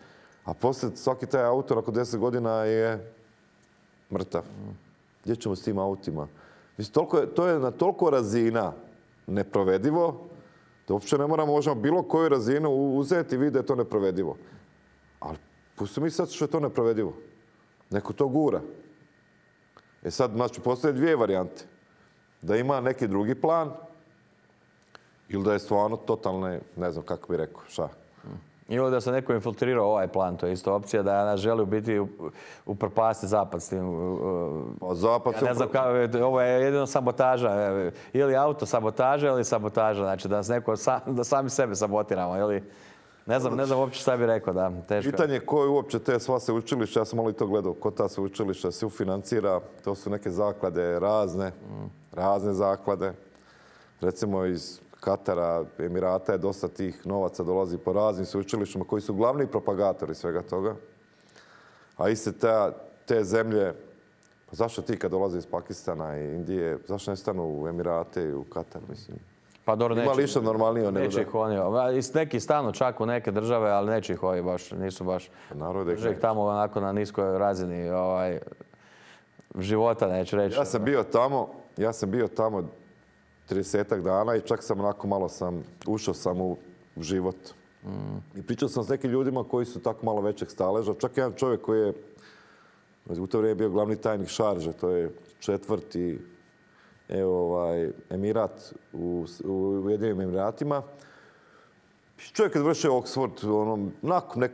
A poslije svaki taj auto nakon 10 godina je mrtav. Gdje ćemo s tim autima? Mislim, to je na toliko razina neprovedivo da uopće ne možemo bilo koju razinu uzeti i vidjeti da je to neprovedivo. Ali pusti mi sad što je to neprovedivo. Neko to gura. Sad, znači, postoje dvije varijante. Da ima neki drugi plan ili da je stvarno totalne, ne znam kako bi rekao, šta. Ili da se neko infiltrirao ovaj plan, to je isto opcija da nas želi biti upropasti Zapad s tim. Ja ne znam, ovo je jedino sabotaža. Ili auto sabotaža ili sabotaža. Znači da sami sebe sabotiramo. Ili... Ne znam uopće šta bih rekao, da, teško. Pitanje je ko je uopće te sva sveučilišta, ja sam malo i to gledao, ko ta sveučilišta se ufinancira, to su neke zaklade razne zaklade. Recimo iz Katara, Emirata je dosta tih novaca dolazi po raznim sveučilištima koji su glavni propagatori svega toga. A iste te zemlje, pa zašto ti kad dolaze iz Pakistana i Indije, zašto ne stanu u Emirate i u Katar, mislim? Pa dobro, ima li išta normalnije nego neće ih oni. Neki stanu čak u neke države, ali neće ih ovi baš, nisu baš. Drže ih tamo onako na niskoj razini života, neću reći. Ja sam bio tamo 30-ak dana i čak sam onako malo ušao sam u život. I pričao sam s nekim ljudima koji su tako malo većeg staleža. Čak jedan čovjek koji je u to vrijeme bio glavni tajnik Šarže, to je 4. Emirat u Ujedinjenim Emiratima. Čovjek je završio Oxford,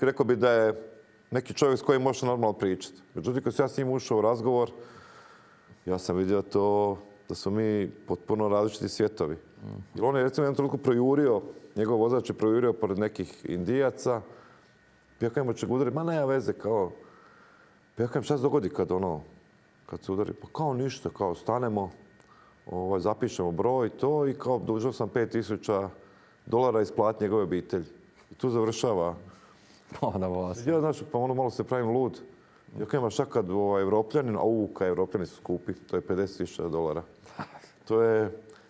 rekao bi da je neki čovjek s kojim može normalno pričati. Međutim, kad sam ja s njim ušao u razgovor, ja sam vidio da smo mi potpuno različiti svjetovi. Jer on je recimo jednom trenutku projurio, njegov vozač je projurio pored nekih Indijaca. Ja kažem, će ga udariti, ma nema veze, kao... Ja kažem, šta se dogodi kad se udari? Pa kao ništa, kao stanemo, zapišemo broj to i kao dužao sam $5,000 isplatiti njegove obitelji. I tu završava. Ja, znači, pa malo se pravim lud. Ja kažem, a šta kad Evropljanin, kad Evropljani su skupi, to je $50,000.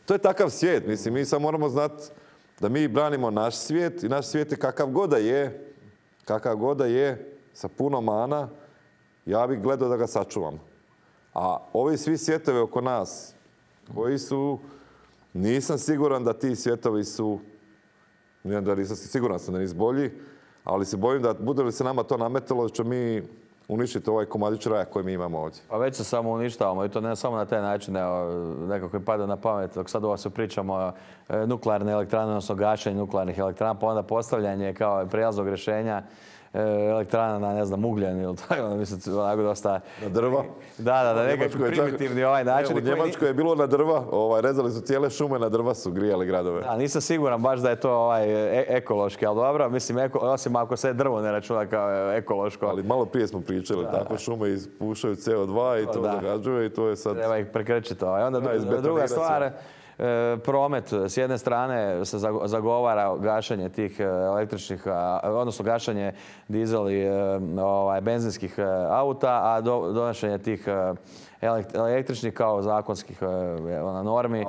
To je takav svijet, mislim, mi sad moramo znati da mi branimo naš svijet i naš svijet je kakav god da je, sa puno mana, ja bih gledao da ga sačuvam. A ovi svi svijetovi oko nas, koji su, nisam siguran da ti svjetovi su, siguran sam da nisu bolji, ali se bojim da bude li se nama to nametalo, da ćemo mi uništiti ovaj komadić raja koji mi imamo ovdje. Pa već se samo uništavamo i to ne samo na taj način, nekako mi pada na pamet, dok sad ovo se pričamo o nuklearne elektrane, odnosno gašenje nuklearnih elektrana, pa onda postavljanje kao prijelaznog rješenja elektrana na, ne znam, ugljen ili tako, mislim, onako dosta... Na drva? Da, nekako primitivni ovaj način. U Njemačkoj je bilo na drva, rezali su cijele šume, na drva su grijali gradove. Da, nisam siguran baš da je to ekološki, ali dobro, mislim, osim ako se drvo ne računa kao ekološko. Ali malo prije smo pričali, tako šume ispušaju CO2 i to zagađuje i to je sad... Treba ih prekrčiti. Onda druga stvar, promet, s jedne strane se zagovara gašenje tih električnih, odnosno gašenje dizel i benzinskih auta, a donošenje tih električnih kao zakonskih normi.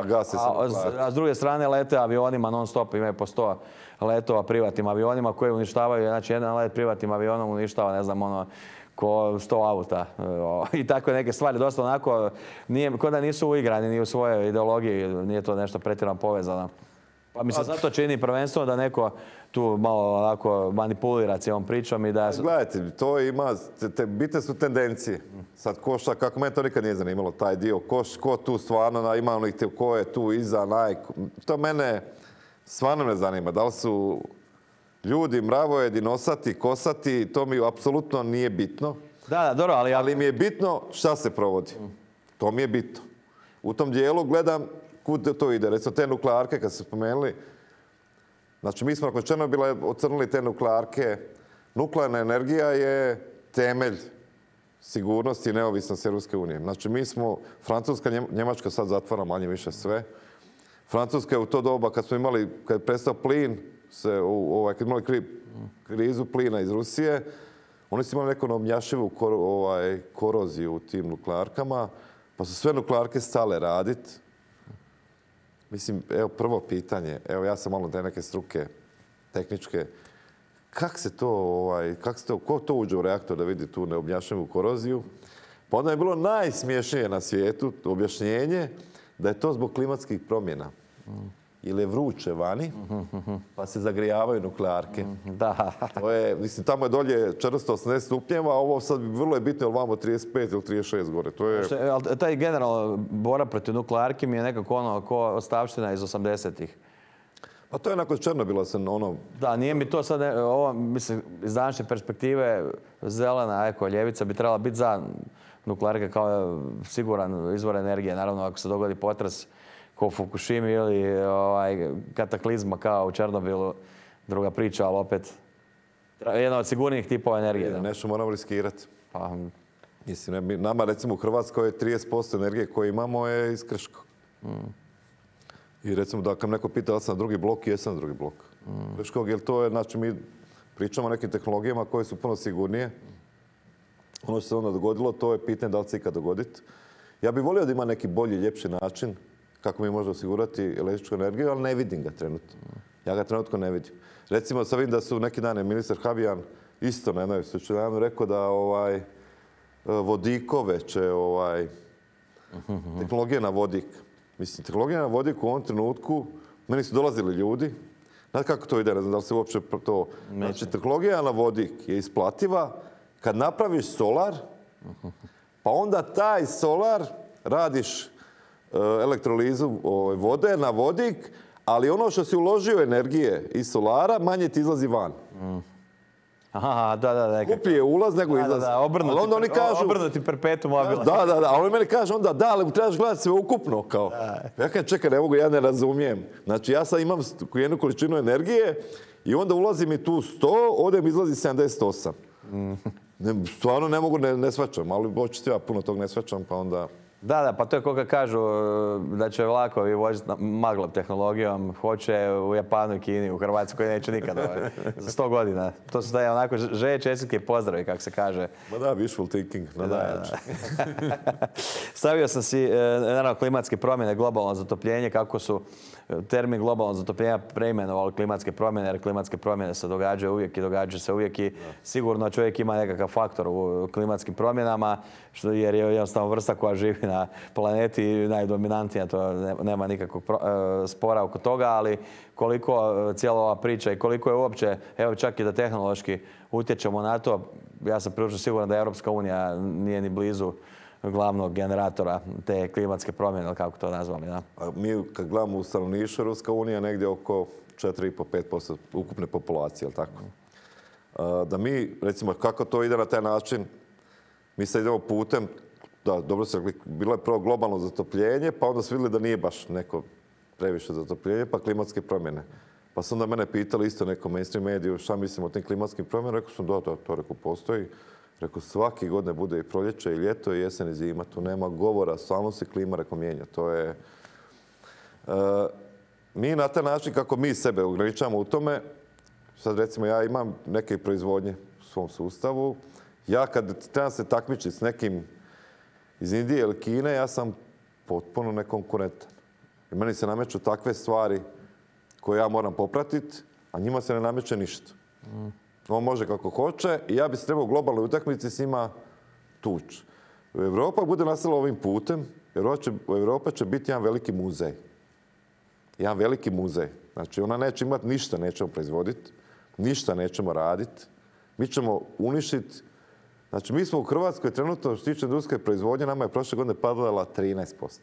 A s druge strane lete avionima non stop, imaju po 100 letova privatnim avionima koji uništavaju, znači jedan let privatnim avionom uništava, ne znam, ko 100 auta i tako neke stvari. Dosta onako, ko da nisu uigrani ni u svojoj ideologiji, nije to nešto pretjerano povezano. Pa mi se zato čini prvenstveno da neko tu malo onako manipulira cijelom pričom i da... Gledajte, to ima, bitne su tendencije. Sad kako mene to nikad nije zanimalo, taj dio, ko tu stvarno ima onih, ko je tu iza, to mene stvarno ne zanima. Da li su ljudi, mravojedi, nosati, kosati, to mi apsolutno nije bitno. Da, dobro, ali mi je bitno šta se provodi. To mi je bitno. U tom dijelu gledam kud to ide. Recimo te nuklearke, kad ste spomenuli, znači mi smo nakon Černobila ocrnili te nuklearke. Nuklearna energija je temelj sigurnosti i neovisnosti Europske unije. Znači mi smo, Francuska, Njemačka sad zatvara manje više sve. Francuska je u to doba kad je prestao plin, kad imali krizu plina iz Rusije, oni su imali neku neobjašnjivu koroziju u tim nuklearkama, pa su sve nuklearke stale raditi. Mislim, evo prvo pitanje, evo ja sam malo te neke struke tehničke, ko to uđe u reaktor da vidi tu neobjašnjivu koroziju? Pa onda je bilo najsmiješnije na svijetu objašnjenje da je to zbog klimatskih promjena. Ili je vruće vani, pa se zagrijavaju nuklearke. Da. Mislim, tamo je dolje 480 stupnjeva, a ovo sad vrlo je bitno, ili vamo 35 ili 36 gore. Taj generalno borba protiv nuklearki mi je nekako ko ostavština iz 80-ih. Pa to je nakon Černobila se Da, nije mi to sad, mislim, iz današnje perspektive zelena ljevica bi trebala biti za nuklearke kao siguran izvor energije. Naravno, ako se dogodi potres kao u Fukushimi ili kataklizma kao u Černobilu, druga priča, ali opet jedna od sigurnijih tipova energije. Nešto moramo riskirati. Mislim, nama recimo u Hrvatskoj 30% energije koje imamo je iz Krškog. I recimo da kad neko pita da sam na drugi blok, jesam na drugi blok. Krškog, jer to je, znači mi pričamo o nekim tehnologijama koje su puno sigurnije. Ono što se onda dogodilo, to je pitanje da li se ikad dogoditi. Ja bih volio da ima neki bolji, ljepši način kako mi možemo osigurati električnu energiju, ali ne vidim ga trenutno. Ja ga trenutno ne vidim. Recimo, sad vidim da su neki dan ministar Habijan isto na jednoj slučaju rekao da vodikove će tehnologija na vodik. Mislim, tehnologija na vodik u ovom trenutku, meni su dolazili ljudi, znate kako to ide, ne znam da li se uopće to... Znači, tehnologija na vodik je isplativa kad napraviš solar, pa onda taj solar radiš elektrolizu vode na vodik, ali ono što si uložio energije iz solara, manje ti izlazi van. Aha, da. Skuplji je ulaz nego izlaz. Da, obrnuti perpetuum mobile. Da, a oni meni kažu onda da, ali trebaš gledati sve ukupno. Kao. Ja kažem, čekaj, ja ne razumijem. Znači, ja sad imam jednu količinu energije i onda ulazi mi tu 100, ovdje mi izlazi 78. Stvarno ne mogu, ne shvaćam, ali očito ja puno tog ne shvaćam, pa onda... Da, pa to je koga kažu da će vlakovi voziti maglom tehnologijom, hoće u Japanu i Kini, u Hrvatskoj neće nikada, za 100 godina. To su daje onako želje, čestitke i pozdravi, kako se kaže. Ma da, wishful thinking. Stavio sam si, naravno, klimatske promjene, globalno zatopljenje, kako su termin globalno zatopljenja preimenovali klimatske promjene, jer klimatske promjene se događaju uvijek i događaju se uvijek i sigurno čovjek ima nekakav faktor u klimatskim promjenama, jer je jednostavno vrsta koja živi na planeti najdominantnija, to nema nikakvog spora oko toga, ali koliko cijela ova priča i koliko je uopće, evo čak i da tehnološki utječemo na to, ja sam prilično siguran da Europska unija nije ni blizu glavnog generatora te klimatske promjene, ili kako to nazvali. Da? A mi kad gledamo u stanovništvu, Europska unija negdje oko 4,5-5% ukupne populacije, jel tako? Da mi, recimo, kako to ide na taj način, mi sad idemo putem, da, dobro se rekli, bilo je prvo globalno zatopljenje, pa onda su vidjeli da nije baš neko previše zatopljenje, pa klimatske promjene. Pa su onda mene pitali isto neko mainstream mediju šta mislim o tim klimatskim promjenama. Rekao sam da, to rekao postoji. Rekao svake godine bude i proljeće i ljeto i jesen i zima. Tu nema govora, samo se klima rekao mijenja. To je... mi na taj način kako mi sebe ograničavamo u tome, sad recimo ja imam neke proizvodnje u svom sustavu. Ja kad trebam se takmičiti s nekim iz Indije ili Kine, ja sam potpuno nekonkurentan. I meni se nameću takve stvari koje ja moram popratiti, a njima se ne nameće ništa. On može kako hoće i ja bi se trebao u globalnoj utakmici s njima tući. Europa bude nastavila ovim putem, Europa će biti jedan veliki muzej. Jedan veliki muzej. Znači, ona neće imati ništa, nećemo proizvoditi, ništa nećemo raditi. Mi ćemo uništiti. Znači, mi smo u Hrvatskoj trenutno, što se tiče industrijske proizvodnje, nama je prošle godine padala 13%.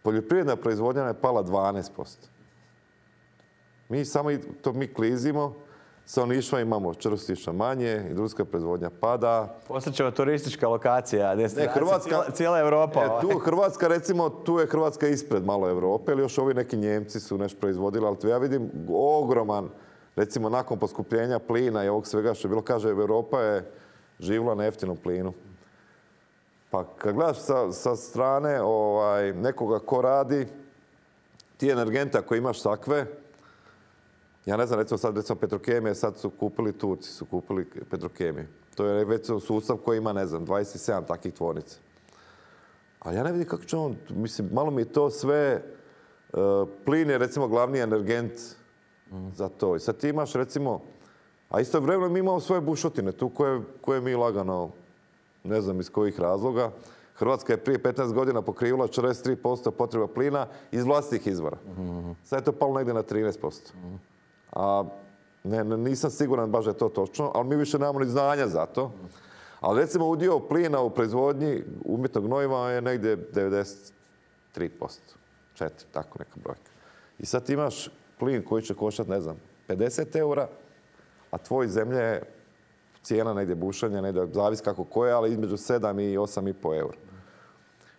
Poljoprivredna proizvodnja je pala 12%. Mi klizimo, stanovništva imamo čvrstiša manje, industrijska proizvodnja pada. Posjećamo turistička lokacija, destinacija, cijela Europa. Hrvatska, recimo, tu je Hrvatska ispred malo Europe, ili još ovi neki Njemci su nešto proizvodili, ali tu ja vidim ogroman, recimo, nakon poskupljenja plina i ovog svega što je bilo, kaže, Europa je živjela na jeftinom plinu. Pa kad gledaš sa strane nekoga ko radi, ti energenta koji imaš takve, ja ne znam, recimo Petrokemije, sad su kupili Turci, su kupili Petrokemiju. To je već sustav koji ima, ne znam, 27 takvih tvornica. A ja ne vidim kako će on, mislim, malo mi je to sve, plin je recimo glavni energent za to. I sad ti imaš recimo, a istovremeno mi imamo svoje bušotine tu koje mi lagano, ne znam iz kojih razloga. Hrvatska je prije 15 godina pokrivala 43% potreba plina iz vlastitih izvora. Sad je to palo negdje na 13%. A nisam siguran baš da je to točno, ali mi više nemamo ni znanja za to. Ali recimo udio plina u proizvodnji umjetnog gnojiva je negdje 93%. 4, tako neka brojka. I sad ti imaš plin koji će koštati, ne znam, 50 eura, a tvoj zemlje je cijena negdje bušenja, negdje, zavisi kako koje, ali između 7 i 8,5 eura.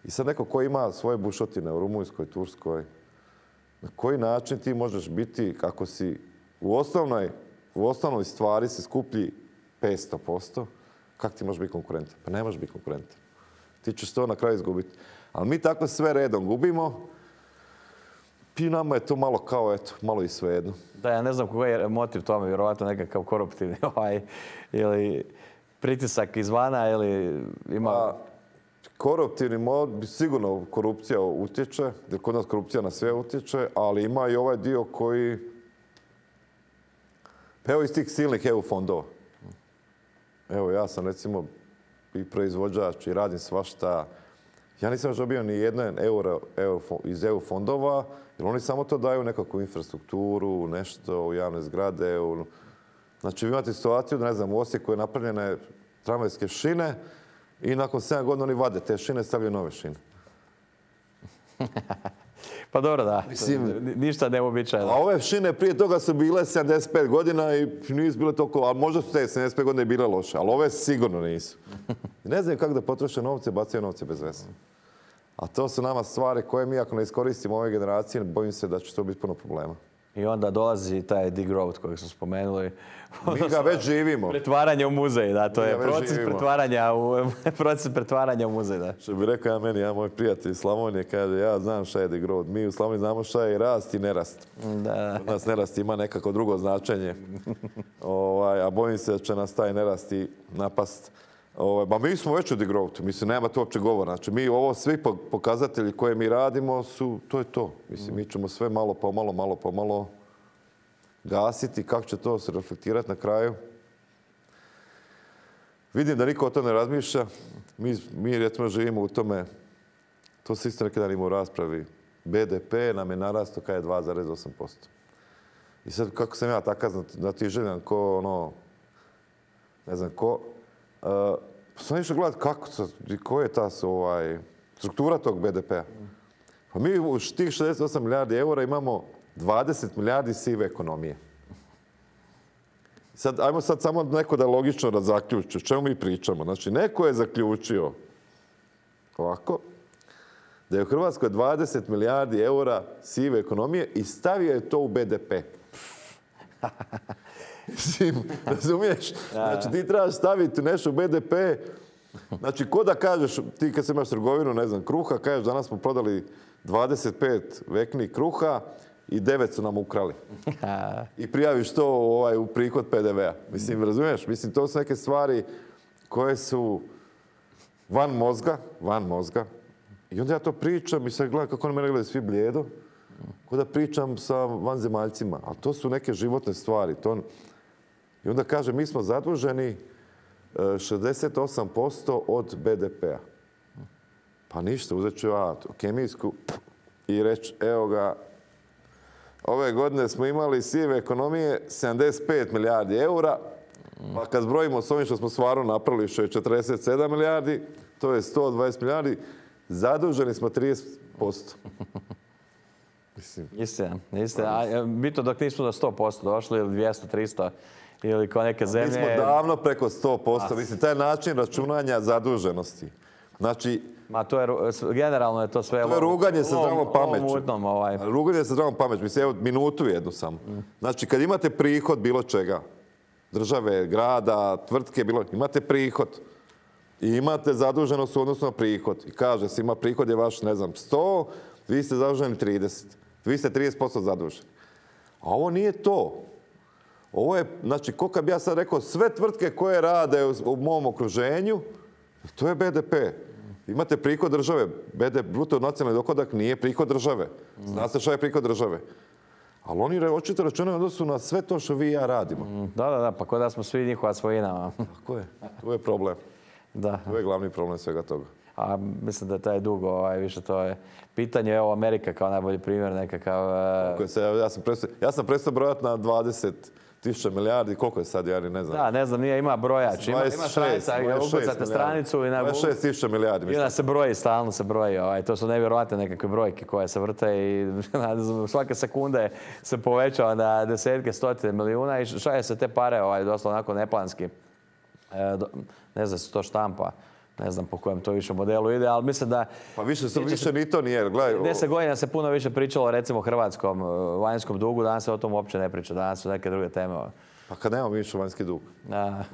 I sad neko ko ima svoje bušotine u Rumunjskoj, Turskoj, na koji način ti možeš biti, kako si u osnovnoj stvari si skuplji 500%, kako ti možeš biti konkurentan? Pa ne možeš biti konkurentan. Ti ćeš to na kraju izgubiti. Ali mi tako sve redom gubimo i nama je to malo kao, eto, malo i svejedno. Da, ja ne znam koji je motiv tome, vjerovatno nekakav koruptivni ili pritisak izvana ili ima... Koruptivni mod, sigurno korupcija utječe, jer kod nas korupcija na sve utječe, ali ima i ovaj dio koji... Evo iz tih silnih EU fondova. Evo ja sam recimo i proizvođač i radim svašta. Ja nisam još dobio ni jedan euro iz EU fondova, jer oni samo to daju nekakvu infrastrukturu, nešto u javne zgrade. Znači vi imate situaciju, ne znam, u Osijeku je napravljene tramvajske šine i nakon 7 godina oni vade te šine i stavljaju nove šine. Pa dobro, da. Ništa neuobičajeno. A ove šine prije toga su bile 75 godina i nisu bile toliko, ali možda su te 75 godina i bile loše, ali ove sigurno nisu. Ne znaju kako da potroše novce, bacaju novce bez veze. A to su nama stvari koje mi ako ne iskoristimo ove generacije, bojim se da će to biti puno problema. I onda dolazi taj degrowth kojeg smo spomenuli. Mi ga već živimo. Pretvaranje u muzej, da, to je proces pretvaranja u muzej, da. Što bi rekao ja moj prijatelj iz Slavonije, kaže, ja znam šta je degrowth. Mi u Slavoniji znamo šta je rast i nerast. Da. Od nas nerast ima nekako drugo značenje. A bojim se da će nas taj nerast i napast. Ba mi smo već u degrowthu, mislim, nema to uopće govora. Znači, mi ovo svi pokazatelji koje mi radimo to je to. Mislim, mi ćemo sve malo pomalo gasiti. Kako će to se reflektirati na kraju? Vidim da niko o to ne razmišlja. Mi recimo živimo u tome, to se isto neki dan ima u raspravi, BDP nam je narastao kada je 2,8%. I sad kako sam ja takav znatiželjan ko ne znam ko, sam išao gledati koja je ta struktura tog BDP-a. Pa mi u tih 68 milijardi eura imamo 20 milijardi sive ekonomije. Ajmo sad samo neko da logično da zaključi o čemu mi pričamo. Znači, neko je zaključio ovako, da je u Hrvatskoj 20 milijardi eura sive ekonomije i stavio je to u BDP. Razumiješ? Znači, ti trebaš staviti nešto u BDP. Znači, ko da kažeš, ti kad se imaš trgovinu, ne znam, kruha, kažeš danas smo prodali 25 veknih kruha i 9 su nam ukrali. I prijaviš to u prihod PDV-a. Mislim, razumiješ? Mislim, to su neke stvari koje su van mozga. I onda ja to pričam i sad gledam kako oni mene gledaju svi blijedo. Ko da pričam sa vanzemaljcima. Ali to su neke životne stvari. I onda kaže, mi smo zaduženi 68% od BDP-a. Pa ništa, uzet ću ja kemijsku i reći, evo ga, ove godine smo imali sive ekonomije 75 milijardi eura, pa kad zbrojimo s ovim što smo stvarno napravili, što je 47 milijardi, to je 120 milijardi, zaduženi smo 30%. Istina. Bitno dok nismo do 100% došli, ili 200, 300, ili kao neke zemlje. Mi smo davno preko 100%. Mislim, taj način računanja zaduženosti. Znači, generalno je to sve... To je ruganje sa zdravom pameću. Ruganje sa zdravom pameću. Mislim, evo, minutu jednu samo. Znači, kad imate prihod bilo čega, države, grada, tvrtke, imate prihod i imate zaduženost u odnosu na prihod. I kaže se, ima prihod je vaš, ne znam, 100, vi ste zaduženi 30. Vi ste 30% zaduženi. A ovo nije to. Ovo je, znači, koliko bi ja sad rekao, sve tvrtke koje rade u mom okruženju, to je BDP. Imate prihod države. Bruto nacionalni dohodak nije prihod države. Znate šta je prihod države? Ali oni očito računaju odnosu na sve to što vi i ja radimo. Da, pa kod da smo svi njihova svojina. Tako je. To je problem. Da. To je glavni problem svega toga. A mislim da je taj dug, više to je pitanje, evo Amerika kao najbolji primjer nekakav... Ja sam prestao brojati na 20.000 milijardi, koliko je sad, ja ne znam. Da, ne znam, ima brojač, ima stranica, ukucate stranicu i... 26.000 milijardi. I onda se broji, stalno se broji, to su nevjerojatne nekakve brojke koje se vrte i svake sekunde se povećava na desetke, stotine milijuna i šalje se te pare, doslovno onako neplanski. Ne znam se to štampa. Ne znam po kojem to više modelu ide, ali mislim da... Pa više ni to nije. 10 godina se puno više pričalo recimo o hrvatskom vanjskom dugu, danas se o tom uopće ne priča, danas su neke druge teme. Pa kad nemamo više vanjski dug.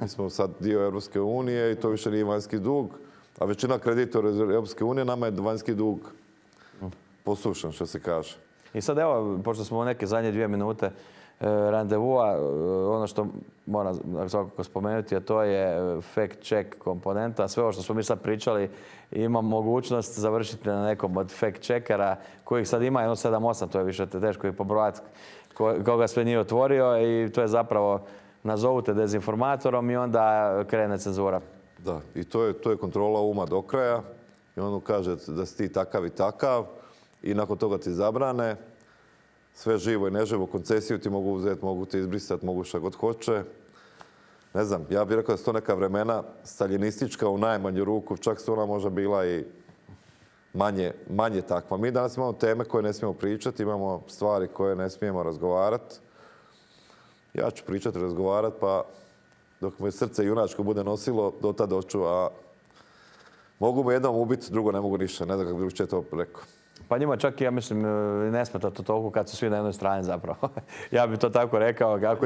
Mi smo sad dio Europske unije i to više nije vanjski dug, a većina kreditora Europske unije nama je vanjski dug posušen, što se kaže. I sad evo, pošto smo u neke zadnje 2 minute randevua, ono što moram svakako spomenuti, a to je fact check komponenta. Sve ovo što smo mi sad pričali ima mogućnost završiti na nekom od fact checkera kojih sad ima 7-8, to je više teško i pobrojati koga sve nije otvorio i to je zapravo nazovu te dezinformatorom i onda krene cenzura. Da, i to je kontrola uma do kraja i on kaže da si ti takav i takav i nakon toga ti zabrane. Sve živo i neživo, koncesiju ti mogu uzeti, mogu ti izbrisati, mogu šta god hoće. Ne znam, ja bih rekao da su to neka vremena staljinistička u najmanju ruku, čak su ona možda bila i manje takva. Mi danas imamo teme koje ne smijemo pričati, imamo stvari koje ne smijemo razgovarati. Ja ću pričati, razgovarati, pa dok me srce junačko bude nosilo, do tada hoću, a mogu me jednom ubiti, drugo ne mogu ništa. Ne znam kako drugčije to rekao. Pa njima čak i, ja mislim, ne smeta to toliko kad su svi na jednoj strani zapravo. Ja bih to tako rekao. Dok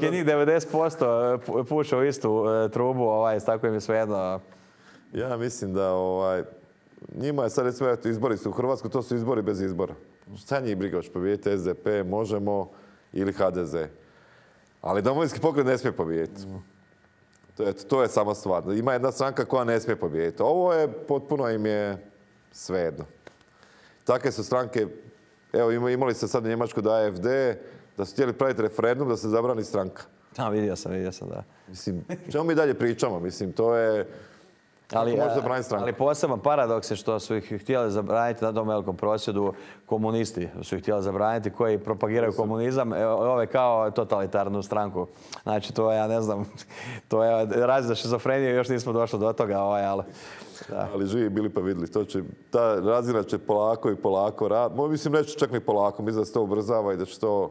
je njih 90% puše u istu trubu, tako im je svejedno. Ja mislim da njima je sad recimo izbori su u Hrvatskoj, to su izbori bez izbora. Šta njih briga, hoće pobijediti SDP, Možemo ili HDZ. Ali Domovinski pokret ne smije pobijediti. To je sama stvar. Ima jedna stranka koja ne smije pobijediti. Ovo je potpuno im je svejedno. Takve su stranke, evo imali ste sad u Njemačkoj da AfD, da su htjeli praviti referendum da se zabrani stranka. Vidio sam, da. Mislim, čemu mi dalje pričamo? Mislim, to je Ali poseban paradoks je što su ih htjeli zabraniti na tom velikom prosvjedu komunisti. Su ih htjeli zabraniti koji propagiraju komunizam, ove kao totalitarnu stranku. Znači, to ja ne znam, to je razlog za šizofreniju, još nismo došli do toga, ali... Da. Ali živi bili pa vidjeli. Ta razina će polako i polako raditi. Mislim, neće čak ni polako. Mislim da se to ubrzava i da će to...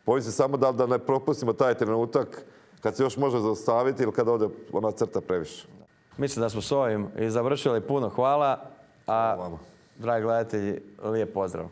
Bojim se samo da ne propustimo taj trenutak kad se još može zaustaviti ili kad ode ona crta previše. Mislim da smo s ovim i završili. Puno hvala. A, dragi gledatelji, lijep pozdrav.